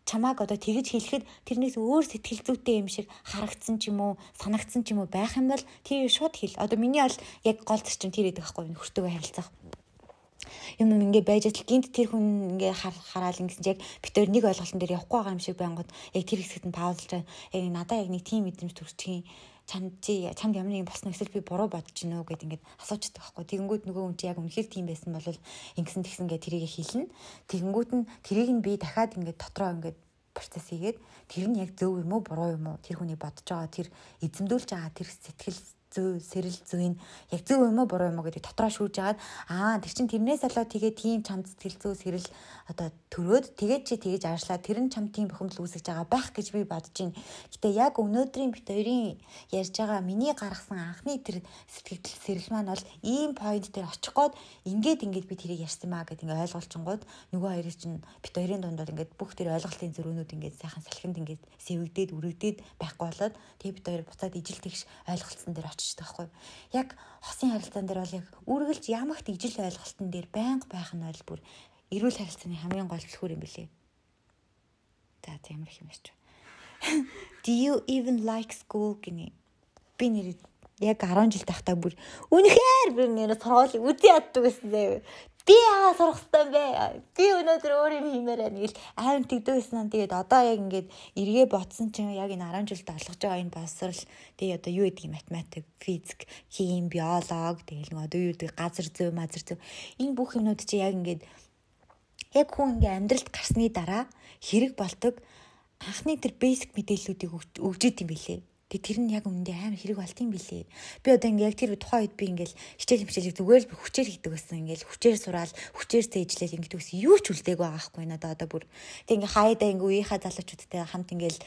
чамааг одоо тэгж хэлэхэд тэрнээс өөр сэтгэл зүйтэй юм шиг харагдсан ч юм уу санагдсан ч юм уу байх юм бол тэр шууд хэл. Одоо миний бол яг гол зарчим тэр байдаг байхгүй нөхөртөөгөө харилцах. Юм ингээ байж тал гинт тэр хүн ингээ хараал ингэсэн яг бид хоёр нэг ойлголтын дээр явахгүй байгаа юм шиг байнгут яг тэр хэсэгт нь паузлж яг надаа яг нэг тийм мэдрэмж төрчихин чамд ямар нэгэн босно эсвэл би буруу бодож гинөө гэд ингээд асуучдаг байхгүй. Тэгэнгүүт нөгөө хүн чи яг үнэхээр тийм байсан бол ингэсэн тэгсэн гэ тэрийг хэлнэ. Тэгэнгүүт нь тэрийг нь би дахиад ингээд дотроо ингээд процесс хийгээд тэр нь яг зөв юм уу буруу юм уу тэр хүний бодож байгаа тэр эзэмдүүлж байгаа тэр сэтгэл сэрэл зүйн яг зөв юм уу буруу юм уу гэдэг дотроо шүүж агаад тэр чин тэрнээс болоод тэгээ тийм чамд сэтгэл зүй сэрэл одоо төрөөд тэгээд чи тэгэж аашлаа тэр нь чам тийм бухимдал үүсгэж байгаа байх гэж би бодож байна. Гэтэ яг өнөөдрийн бит хоёрын ярьж байгаа миний гаргасан анхны тэр сэтгэл сэрэл маань бол ийм point дээр очих гээд ингээд би тэрийг ярьсан маа гэд ингээд ойлгуулчингууд нөгөө хоёрын чинь бит хоёрын дунд бол ингээд бүх тэр ойлголтын зөрүүнүүд ингээд сайхан салхинд ингээд сэвэгдээд үрэгдээд байхгүй болоод тэгээ бит хоёр буцаад ижил тэгш ойлголцсон дээр таахгүй. Яг хосын харилцаан дээр бол яг үргэлж ямагт ижил ойлголтын дээр байнга байх нь бол бүр эрүүл харилцааны хамгийн гол түлхүүр юм билээ. За ямар их юм биш. Do you even like school гинэ. Би нэр яг 10 жил тахтаа бүр үнэхээр би нэр сургуулийг үзий яддаг гэсэн заяа. Би сурах хэрэгтэй бэ. Би өнөөдөр өөр юм хиймээр байна гэл аим тэгдэгсэн. Тэгээд одоо яг ингээд эргээ ботсон чинь яг энэ 10 жилд олгож байгаа энэ боловсрал тэгээд одоо юу гэдэг математик, физик, хим, биолог тэгээд нэг одоо юу гэдэг газар зүй, мазар зүй энэ бүх юмнууд чи яг ингээд яг хүн ингээд амьдралд гарсны дараа хэрэг болдог анхны тэр basic мэдээллүүдийг өгж идэм билээ. Тэгээ тэр нь яг үндэ амар хэрэг болт юм билээ. Би одоо ингээ яг тэр тухайн үед би ингээл хичээл зүгээр л хүчээр хийдэг байсан. Ингээл хүчээр сураал, хүчээр цээжлэл ингээд үс юу ч үлдээг байгаа байхгүй надаа одоо бүр. Тэг ингээ хаяада ингээ үеийнхаа залуучуудтай хамт ингээл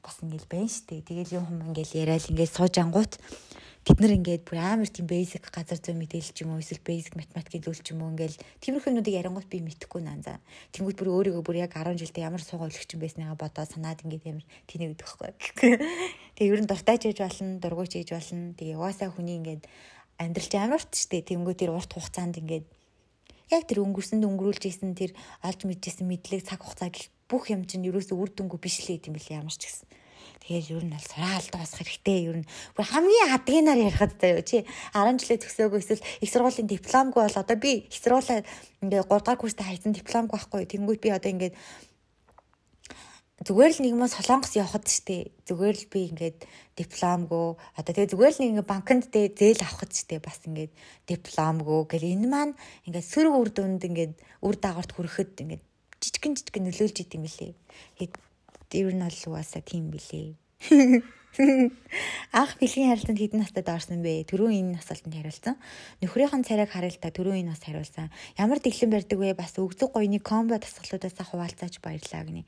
бас ингээл байна штэ. Тэгэл юм хүм ингээл яриад ингээл сууж ангуут бид нар ингээд бүр амар тийм basic газар зүй мэдээлэл ч юм уу эсвэл basic математикийн зүйл ч юм уу ингээл тиймэрхүүнүүдийг ярингуут би мэдэхгүй наанзаа. Тэнгүүд бүр өөрийгөө бүр яг 10 жилдээ ямар суугаа өлөгч юм байсныгаа бодоод санаад ингээд амар тэнийг өгдөхгүй. Тэгээ ер нь дуртай ч хийж болно, дургуйч хийж болно. Тэгээ угаасаа хүний ингээд амьдрал амар урт штэ. Тэнгүүд тэр урт хугацаанд ингээд яг тэр өнгөрүүлж ийсэн тэр олж мэдчихсэн мэдлэг цаг хугацаа гэх бүх юм чинь ерөөсөө үр дүнгүй биш л юм билээ ямар ч гэсэн. Тэгэл ер нь бол сураалд басах хэрэгтэй. Ер нь хамгийн адгийнаар ярихад заяа чи 10 жилээ төгсөөгөө эсвэл их сургуулийн дипломгүй бол одоо би их сургуулаа ингээ 3 дахь курстаа хайсан дипломгүй байхгүй. Тэнгүүд би одоо ингээд зүгээр л нэгмээс солонгос явахад штэ. Зүгээр л би ингээд дипломгүй одоо тэгээ зүгээр л нэг ингээ банкнд дэ зээл авахд штэ бас ингээд дипломгүй гэл энэ маань ингээд сөрөг үр дүнд ингээд үр дагаварт хүрэхэд ингээд жижигэн нөлөөлж идэм билээ. Ер нь бол угаасаа тийм билээ. Ах бэлгийн харилцаанд хэдэн настайд орсон бэ? Түрүүн энэ асуултанд хариулсан. Нөхрийнхэн царайг харалтаа түрүүн энэ бас хариулсан. Ямар дэглэм барьдаг вэ? Бас өгзөг гоёны комбо тасгалуудаас хуваалцаач баярлаа гинэ.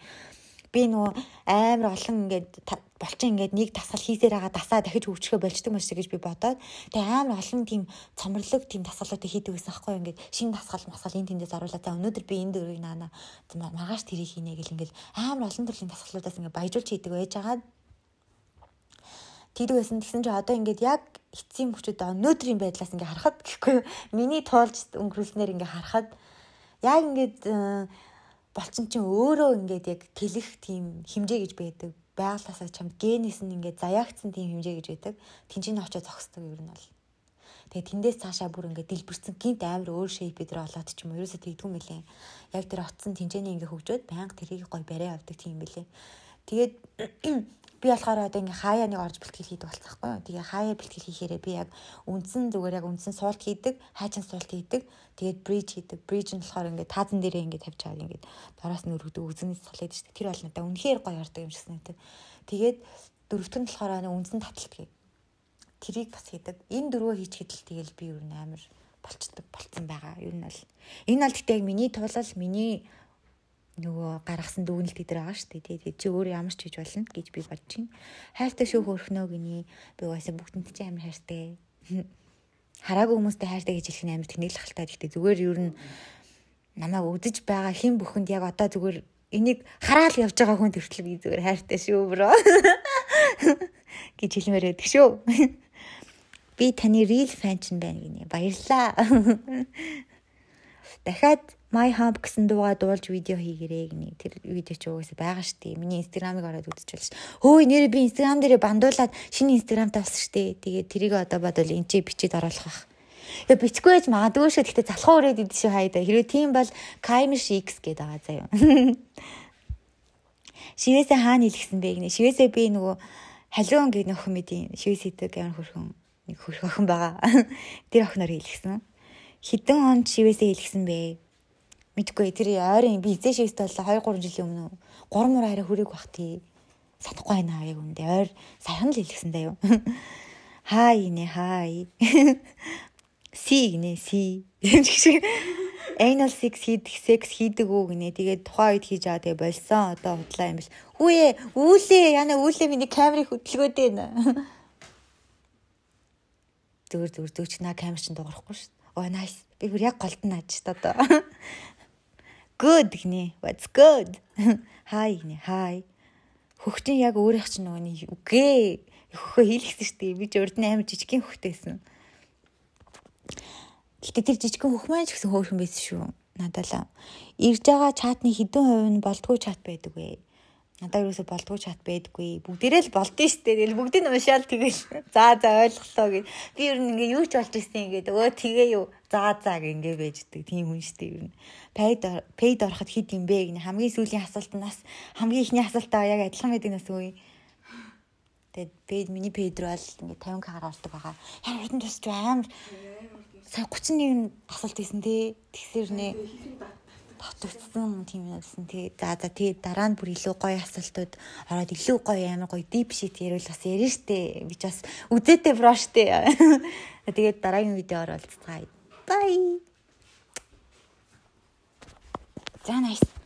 Би нөгөө амар олон ингээд болчин ингээд нэг тасгал хийсээр байгаа дасаа дахиж хөвчгөө болчдөг маш гэж би бодоод тэгээ амар олон тийм цомрлог тийм тасгалуудыг хийдэг гэсэн аахгүй ингээд шинэ тасгал энэ тэндээс оруулаад за өнөөдөр би энэ дөрвийг наана маргааш тэрийг хийнэ гэл ингээд амар олон төрлийн тасгалуудаас ингээд баяжуулж хийдэг байж байгаа. Тийдэг байсан тэгсэн чи одоо ингээд яг эцсийн мөчөд өнөөдрийн байдлаас ингээд харахад гэхгүй миний туулж өнгөрүүлснээр ингээд харахад яг ингээд болчин чинь өөрөө ингээд яг тэлэх тийм хэмжээ гэж байдаг. Байгалаасаа чамд генээс нь ингээд заяагдсан тийм хэмжээ гэж байдаг. Тинжийн очоо зогсдог ер нь бол. Тэгээ тэндээс цаашаа бүр ингээд дэлбэрсэн гинт амар өөр шейп дээр олоод ч юм уу ерөөсө тэгдэггүй мөлий. Яг тэр утсан тинжээний ингээд хөгжөөд байнга тэрийг гой барай авдаг тийм мөлий. Тэгээд би болохоор одоо ингээ хаяа нэг орж бэлтгэл хийдэг болцсохгүй юу. Тэгээ хаяа бэлтгэл хийхээрээ би яг үндсэн зүгээр яг үндсэн суулт хийдэг, хайчин суулт хийдэг. Тэгээд бридж хийдэг. Бридж нь болохоор ингээ таазан дээрээ ингээ тавьж чаад ингээ доороос нь өргөдөг үзэгний сул хийдэг шүү дээ. Тэр бол надаа үнэхээр гоё ярддаг юм шигсэн үү. Тэгээд дөрөвтөнд болохоор үндсэн таталт гээ. Тэрийг бас хийдэг. Энэ дөрвөө хийчихэд л тэгэл би ер нь амар болцсон байгаа. Ер нь бол энэ бол гэхдээ яг миний тулал миний нөгөө гаргасан дүгнэлт дээр байгаа шүү дээ. Тэгээд чи өөрөө ямар ч хийж болно гэж би бодож байна. Хайртай шүү хөрхнөө гинэ. Би угаасаа бүгдэнд чи амар хайртай. Хараагүй хүмүүстэй хайртай гэж хэлэх нь амар тэнэглэх халтай. Гэхдээ зүгээр ер нь намайг үдэж байгаа хэн бүхэнд яг одоо зүгээр энийг хараал явж байгаа хүн төртөл би зүгээр хайртай шүү бро гэж хэлмээр байдаг шүү. Би таны real fan ч байна гинэ. Баярлаа. Дахиад My Hub гэсэн дуугаа дуулж видео хийгэрээ гинэ. Тэр видео ч угаасаа байгаа штэ. Миний инстаграмыг ороод үзчихвэл хөөе нэрээ би инстаграм дээрээ бандуулаад шинэ инстаграмтай болсон штэ. Тэгээд тэрийг одоо бодвол энэ ч бичиж оруулах бах. Тэгээ бичихгүй байж магадгүй шүү. Гэхдээ залхуу өрөөд идэв шүү хайда. Хэрвээ тийм бол Kaimesh X гэдэг байгаа заяа. Шивээсээ хаана илгэсэн бэ гинэ. Шивээсээ би нөгөө халиун гэх нөхөн мэдийн шивээс идэг амар хөрхөн нэг хөрхөн байгаа. Тэр охиноор илгэсэн. Хэдэн онд шивээсээ илгэсэн бэ? Мэдгүй тэр ойрын би эзэн шивэстэй бол 2-3 жилийн өмнө 3 мөр арай хүрээг бах тий. Санахгүй байна яг үндэ ойр саяхан л илгэсэн даа юу. Хай нэ хай. Си гинэ си. Anal sex хийдэг үү гинэ. Тэгээд тухайн үед хийж байгаа тэгээ болсон. Одоо худлаа юм биш. Хүүе үүлээ яна үүлээ миний камерыг хөдөлгөөд байна. Зүгээр чи наа камер чинь дуурахгүй шүү. Oh nice. Би бүр яг голд нь аж та одоо. Good гинэ. What's good? Hi гинэ. Hi. Хөхтийн яг өөрийнх чинь нөгөөний үгээ. Хөхөө хийлгэсэн шүү дээ. Би ч урд нь амар жижигхэн хөхтэйсэн. Гэтэ тэр жижигхэн хөх маань ч гэсэн хөөрхөн байсан шүү. Надаа л. Ирж байгаа чатны хэдэн хувь нь болдгоо чат байдаг вэ? Надаа юусоо болдгоо чат байдаггүй. Бүгдээрээ л болдсон шүү дээ. Тэгэл бүгдийг нь уншаал тэгэл. За ойлголоо гэж. Би ер нь ингээ юу ч болж ирсэн ингээд өө тэгээ юу. За ингээ байждаг. Тийм хүн шүү дээ ер нь. Paid ороход хэд юм бэ гэнэ. Хамгийн сүүлийн асуултнаас хамгийн ихний асуултаа яг адилхан байдаг нас үгүй. Тэгээд миний paid руу л ингээ 50k гаргадаг байгаа. Ямар хурдан тусч амар. Сая 31 асуулт хийсэн тий. Тэгсэр нэ. Дотогдсон тийм юмсэн. Тэгээд дараа нь бүр илүү гоё асуултууд ороод илүү гоё амар гоё deep shit ярил бас ярина штэ. Би ч бас үзээтэй бро штэ. Тэгээд дараагийн видеоор уулзцгаая. Bye. За nice.